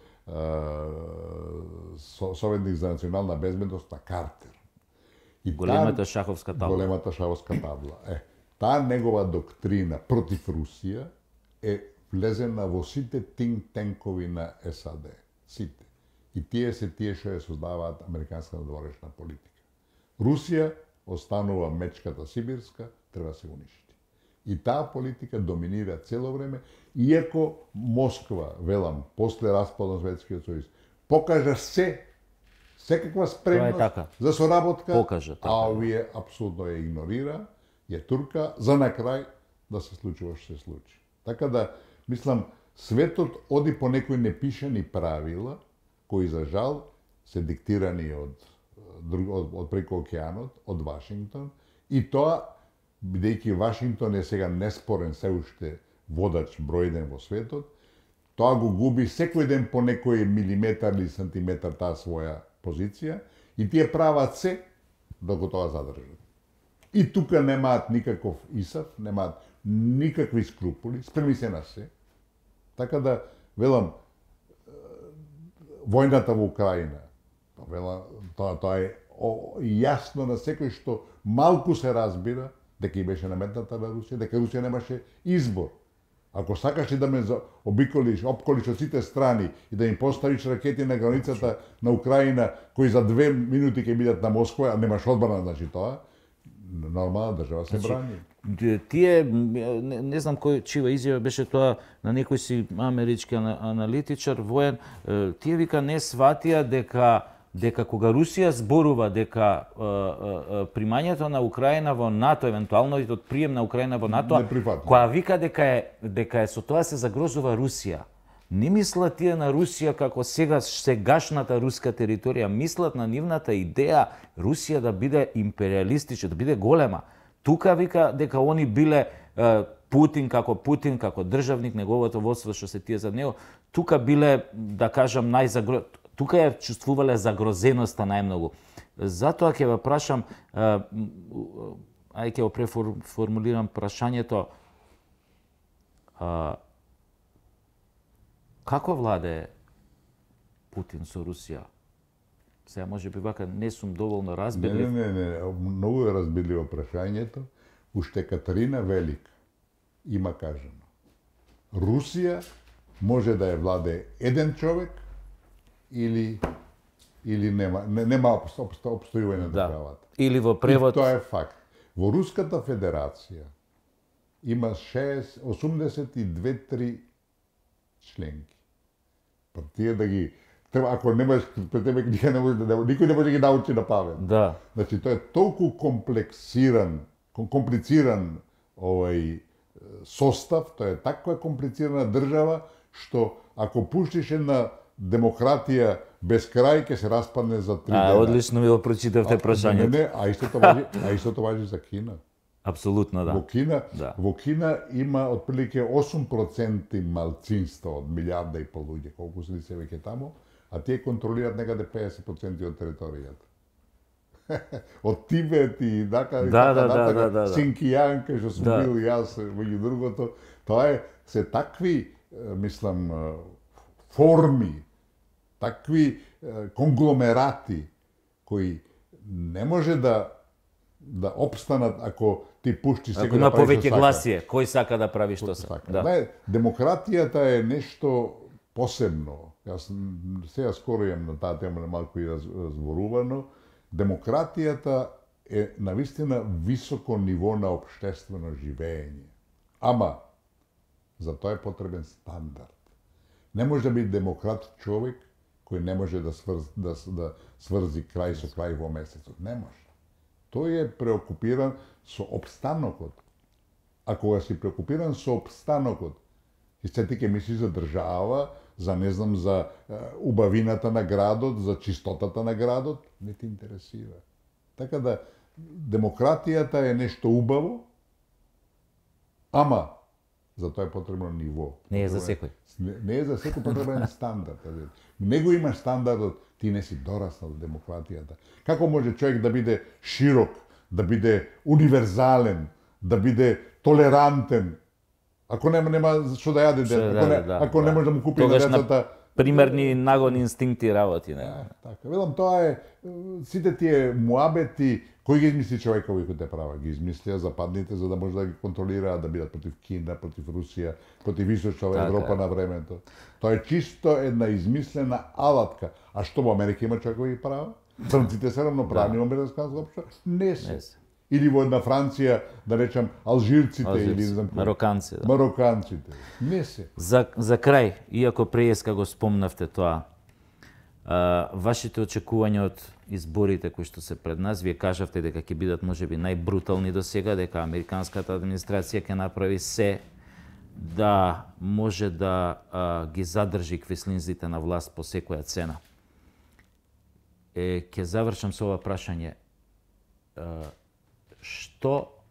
советник за национална безбедност на Картер. И големата шаховска табла. Големата шаховска табла. Таа негова доктрина против Русија е влезена во сите think-танкови на САД. Сите. И тие се тие што ја создаваат американска надворешна политика. Русија останува мечката сибирска, треба да се уништи. И таа политика доминира цело време, иако Москва, велам, после распад на Советскиот сојуз, покажа секаква спремност за соработка, а овие апсолутно ја игнорира, ја турка, за на крај да се случува што се случи. Така да, мислам, светот оди по некои непишани правила, кои за жал се диктирани од преку океанот, од Вашингтон, и тоа, бидејќи Вашингтон е сега неспорен се уште водач број 1 во светот, тоа го губи секој ден по некој милиметар или сантиметар таа своја позиција и тие прават се да го тоа задржат. И тука немаат никаков исав, немаат никакви скрупули, спремни се на се. Така да, велам, војната во Украина, тоа е јасно на секој што малку се разбира дека и беше наметната на Русија, дека Русија немаше избор. Ако сакаш да ме обколиш од сите страни и да им поставиш ракети на границата на Украина, кои за 2 минути ќе бидат на Москва, а немаш одбрана, значи тоа, нормална држава се брани. Тие, не знам чија изјава беше тоа на некој си амерички аналитичар, воен, тие вика не сватија дека кога Русија зборува дека примањето на Украина во НАТО, евентуално и од прием на Украина во НАТО, која вика дека е со тоа се загрозува Русија. Не мислат тие на Русија како сегашната руска територија, мислат на нивната идеја Русија да биде империалистична, да биде голема. Тука вика дека они биле Путин како државник, неговото водство што се тие за него, тука биле, да кажам, тука ја чувствувале загрозеноста најмногу. Затоа ќе ве прашам, ќе го преформулирам прашањето, како владее Путин со Русија? Сега може би вака не сум доволно разбирлив. Не, многу е разбирливо прашањето. Уште Катерина Велика има кажано. Русија може да ја владее еден човек или нема обстојување на државата. Или во превод... И тоа е факт. Во Руската Федерација има 82-3 членки. Па тие да ги... Ако немаш пред тебе книга, никој не може да ги научи на памет. Да. Значи, тоа е толку комплициран состав, тоа е таква комплицирана држава, што ако пуштиш една демократија без крај, ќе се распадне за 3 дена. Одлично ми го прочитавте прашањето. Не, а истото важи за Кина. Апсолутно, да. Во Кина има отприлike 8% малцинство од 1,5 милиарда луѓе, колку се се веќе таму, а тие контролираат некаде 50% од територијата. Од Тибет и така, Синкијан, кај што сум бил јас, меѓу другото, тоа се такви, мислам, форми, такви конгломерати кои не може да опстанат ако ти пушти секој да прави повеќе гласие, кој сака да прави што сака. Демократијата е нешто посебно. Јас сега скоро имам на таа тема малку и разборувано. Демократијата е навистина високо ниво на општествено живење. Ама за тоа е потребен стандард. Не може да биде демократ човек кој не може да сврзи крај со крај во месецот. Не може. Тој е преокупиран со обстанокот. А кога си преокупиран со обстанокот, и се ти ке мислиш за држава, за убавината на градот, за чистотата на градот, не ти интересира. Така да, демократијата е нешто убаво, ама за тоа е потребно ниво. Не е за секој. Не е за секој, потребен е стандард. Него имаш стандардот, ти не си дораснал до демократијата. Како може човек да биде широк, да биде универзален, да биде толерантен, ако нема што да јаде дете, ако не може да му купи на децата... Примерни нагони инстинкти работи, не? Така, велам, тоа е, сите тие муабети, кој ги измисли човекови кои те права? Ги измислија западните за да може да ги контролираат, да бидат против Кина, против Русија, против Исочна Европа на времето. Тоа е чисто една измислена алатка. А што во Америка има човекови права? Црнците се равноправни во американското општество? Не се. Или во една Франција, да речам, алжирците или не знам мароканците. Мароканците. Не се. За крај, иако преска го спомнавте тоа, вашите очекувања од изборите кои што се пред нас, вие кажавте дека ќе бидат можеби најбрутални до сега, дека американската администрација ќе направи се да може да ги задржи квеслинзите на власт по секоја цена. Ќе завршам со ова прашање. Што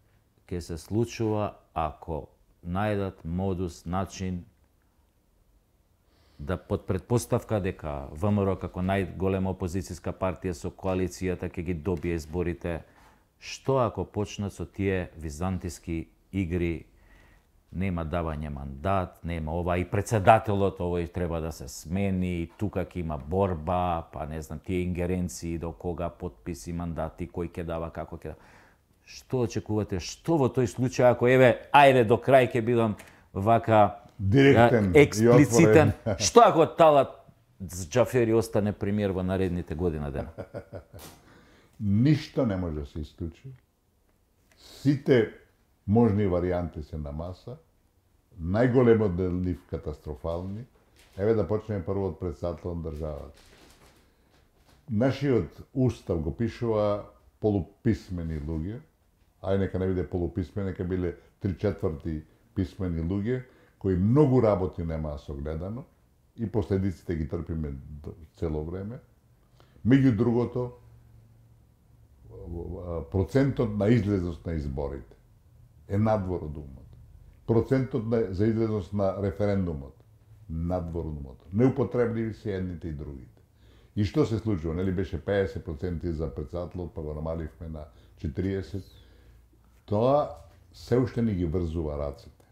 ќе се случува ако најдат модус, начин да под предпоставка дека ВМРО како најголема опозицијска партија со коалицијата ќе ги добие изборите, што ако почнат со тие византиски игри, нема давање мандат, нема ова и председателот овој треба да се смени, тука ќе има борба, па не знам, тие ингеренции до кога потписи, мандати, кој ќе дава, како ќе дава. Што очекувате? Што во тој случај, ако ајде до крај ќе бидам вака директен, експлицитен, што ако Талат Џафери остане премиер во наредните година дена? Ништо не може да се исклучи. Сите можни варијанти се на маса. Најголемот дел нив катастрофални. Еве да почнеме прво од председател на државата. Нашиот устав го пишува полуписмени луѓе, ај нека не биде полуписмени, нека биле 3/4 писмени луѓе, кои многу работи немаа согледано, и последиците ги трпиме цело време. Меѓу другото, процентот на излезност на изборите е надвор од умот. Процентот за излезност на референдумот надвор од умот. Неупотребливи се едните и другите. И што се случува? Нели беше 50% за председателот, па го намаливме на 40%. Тоа се уште не ги врзува рацете.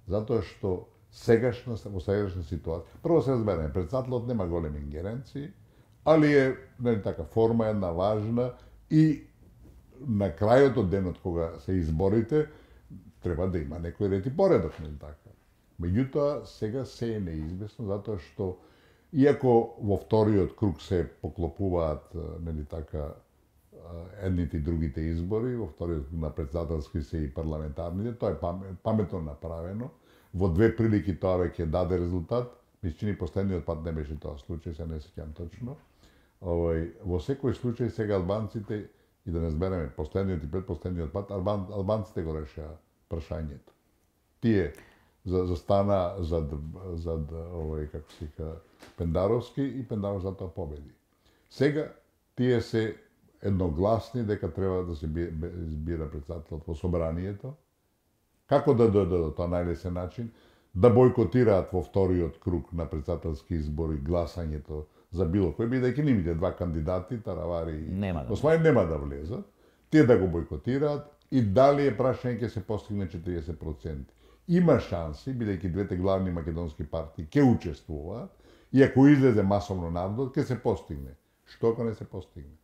Затоа што во сегашна ситуација, прво се разбереме, председателот нема големи ингеренции, али е нели така форма една важна и на крајот од денот кога се изборите треба да има некој ред и поредок, нели така. Меѓутоа сега се е неизвестно затоа што иако во вториот круг се поклопуваат нели така едните и другите избори, во вториот на председателски се и парламентарните, тоа е паметно направено. Во две прилики тоа веќе даде резултат. Ми се чини последниот пат не беше тоа случај, се не сеќам точно. Во секој случај сега албанците, и да не збереме последниот и предпоследниот пат, албанците го решаа прашањето. Тие застана зад како се вика Пендаровски и Пендаровски затоа победи. Сега тие се едногласни дека треба да се избира председателот во собранието. Како да дојдат до тоа најлесен начин? Да бойкотираат во вториот круг на председателски избори гласањето за било кој, бидејќи нивните два кандидати, Таравари и Османи, нема да влезат. Тие да го бойкотираат и дали е прашање ќе се постигне 40%. Има шанси, бидејќи двете главни македонски партии ќе учествуваат и ако излезе масовно народот, ќе се постигне. Што ако не се постигне?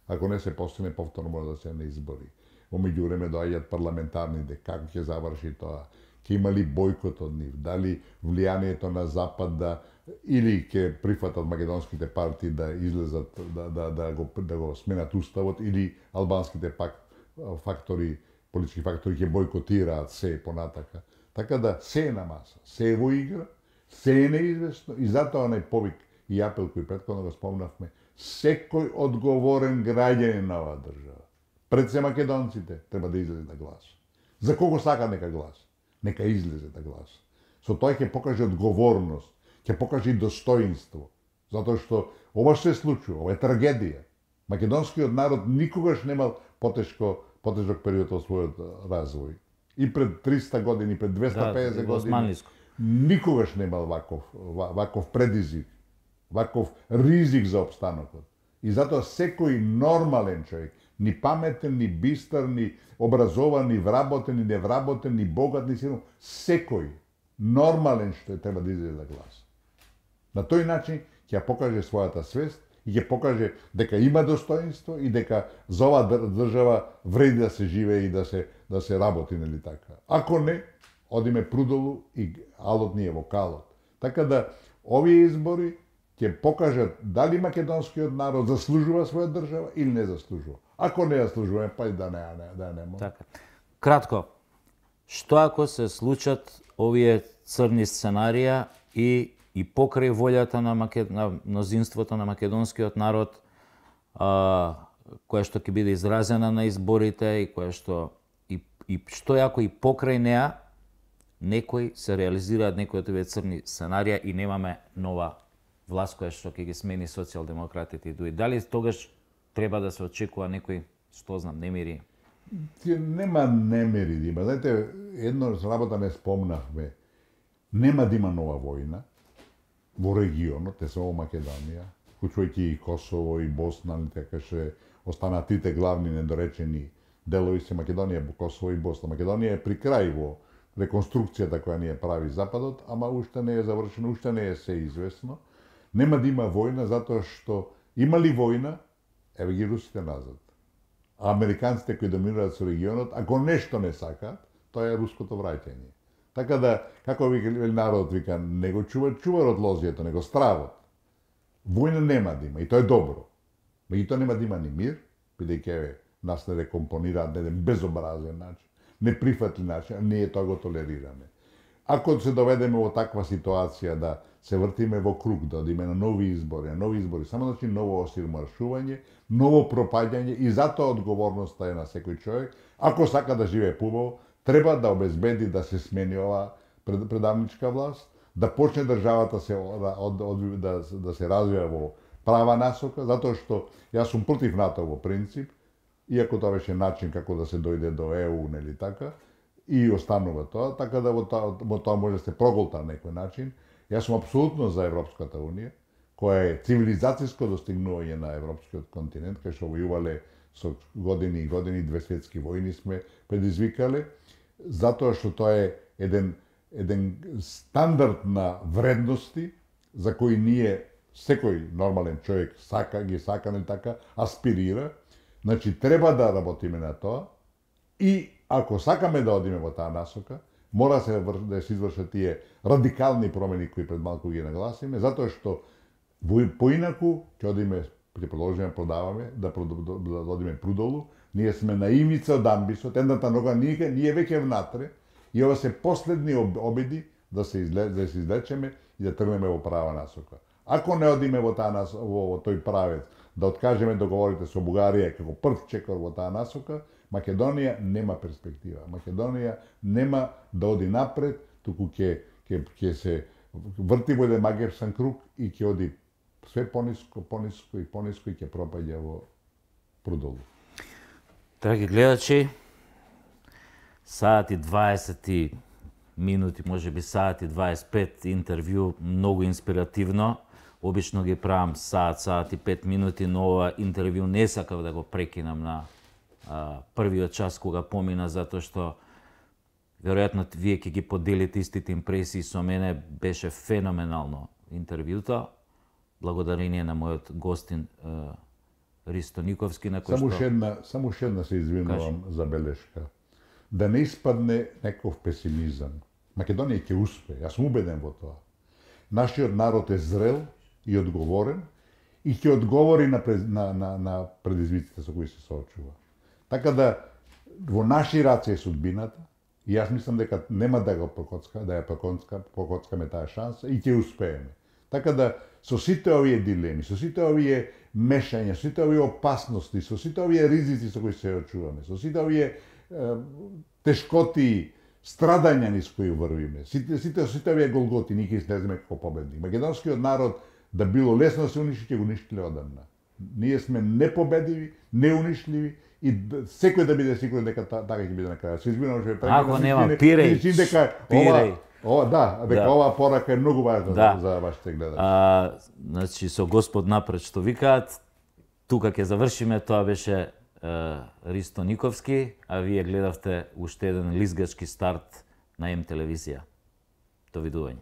Ако не се постигне, повторно може да се на избори. Во меѓувреме доаѓаат парламентарните, како ќе заврши тоа? Ќе има ли бојкот од нив? Дали влијанието на Запад или ќе прифатат македонските партии да излезат, да го сменат уставот, или албанските политички фактори ќе бойкотираат се понатака. Така да се е на маса, се е во игра, се е неизвестно и затоа онај повик и апел кој претходно го спомнавме, секој одговорен граѓанин на оваа држава, пред се македонците, треба да излезе да гласа. За кого сака нека гласа? Нека излезе да гласа. Со тоа ќе покаже одговорност, ќе покаже и достоинство, затоа што ова што се случува, ова е трагедија. Македонскиот народ никогаш немал потежок период од својот развој. И пред 300 години, пред 250 години, никогаш немал ваков предизвик, ваков ризик за опстанокот. И затоа секој нормален човек, ни паметен, ни бистар, ни образован, ни вработен, ни невработен, ни богат, ни силен, секој нормален што треба да излезе да гласа. На тој начин ќе покаже својата свест и ќе покаже дека има достоинство и дека за оваа држава вреди да се живее и да се работи, нели така. Ако не, одиме прудолу и алот ни е во калот. Така да овие избори ќе покажат дали македонскиот народ заслужува своја држава или не заслужува. Ако не заслужува, па и да не. Така. Кратко, што ако се случат овие црни сценарија и покрај волјата на мнозинството на македонскиот народ, која што ќе биде изразена на изборите и која што што ако и покрај неа некој се реализираат некои од овие црни сценарија и немаме нова власт која што ќе ги смени социјалдемократите и други. Дали тогаш треба да се очекува некој, што знам, немири? Нема немири да има. Знаете, едно работа не спомнавме. Нема да има нова војна во регионот, не само Македонија, вклучувајќи и Косово и Босна, така ше останаа трите главни недоречени делови се Македонија, Косово и Босна. Македонија е при крај во реконструкцијата која ни ја прави Западот, ама уште не е завршено, уште не е се известно. Нема да има војна затоа што има ли војна, еве ги русите назад. А американците кои доминираат со регионот, ако нешто не сакаат, тоа е руското враќање. Така да, како народот вика, не го чуварот лозието, него стравот. Војна нема да има и тоа е добро. Меѓутоа нема да има ни мир, бидејќи нас не рекомпонираат на еден безобразен начин, неприфатлив начин, а ние тоа го толерираме. Ако се доведеме во таква ситуација да се вртиме во круг, да одиме на нови избори, само значи ново осирмаршување, ново пропаѓање и затоа одговорноста е на секој човек. Ако сака да живее побаво, треба да обезбеди да се смени оваа предавничка власт, да почне државата да се развива во права насока, затоа што јас сум против НАТО во принцип, иако тоа беше начин како да се дојде до ЕУ, нели така, и останува тоа, така да во тоа може да се проголта на некој начин. Јас сум апсолутно за Европската унија, која е цивилизацијско достигнување на европскиот континент, кај што војувале со години и години, 2 светски војни сме предизвикале, затоа што тоа е еден стандард на вредности за кои ние, секој нормален човек ги сака, не така, аспирира. Значи, треба да работиме на тоа и ако сакаме да одиме во таа насока, мора да се извршат тие радикални промени кои пред малку ги нагласиме, затоа што поинаку ќе одиме, ќе продолжиме продаваме, да одиме прудолу, ние сме на ивница од амбисот, едната нога ние веќе внатре, и ова се последни обиди да се излечеме и да тргнеме во права насока. Ако не одиме во тој правец, да откажеме договорите со Бугарија како прв чекор во таа насока, Македонија нема перспектива. Македонија нема да оди напред, туку ќе се врти во еден магевсан круг и ќе оди све пониско и ќе пропаѓа во прудолу. Драги гледачи, саат и 20 минути, може би саат и 25 интервју, многу инспиративно. Обично ги правам саат и 5 минути, но ова интервју не сакав да го прекинам на првиот час кога помина, затоа што веројатно вие ќе ги поделите истите импресии со мене. Беше феноменално интервјуто. Благодарение на мојот гостин Ристо Никовски, на кој што... Само една се извинувам за белешка. Да не испадне некој песимизам. Македонија ќе успее, јас сум убеден во тоа. Нашиот народ е зрел и одговорен и ќе одговори на предизвиците со кои се соочува. Така да во наши раце е судбината и јас мислам дека нема да ја покоцкаме таа шанса и ќе успееме. Така да со сите овие дилеми, со сите овие мешања, со сите овие опасности, со сите овие ризици со кои се очуваме, со сите овие тешкоти, страдања низ кои врвиме, сите овие голготи, ние ќе излеземе како победник. Македонскиот народ да било лесно да се уништи, ќе го уништиле одамна. Ние сме непобедиви, неунишливи и секој да биде сигурен дека така ќе биде на крај. Се извинувам што ако нема пиреј. Оваа порака е многу важна за вашите гледачи. Значи со Господ напред што викаат, тука ќе завршиме. Тоа беше Ристо Никовски, а вие гледавте уште еден лизгачки старт на М телевизија. Довидување.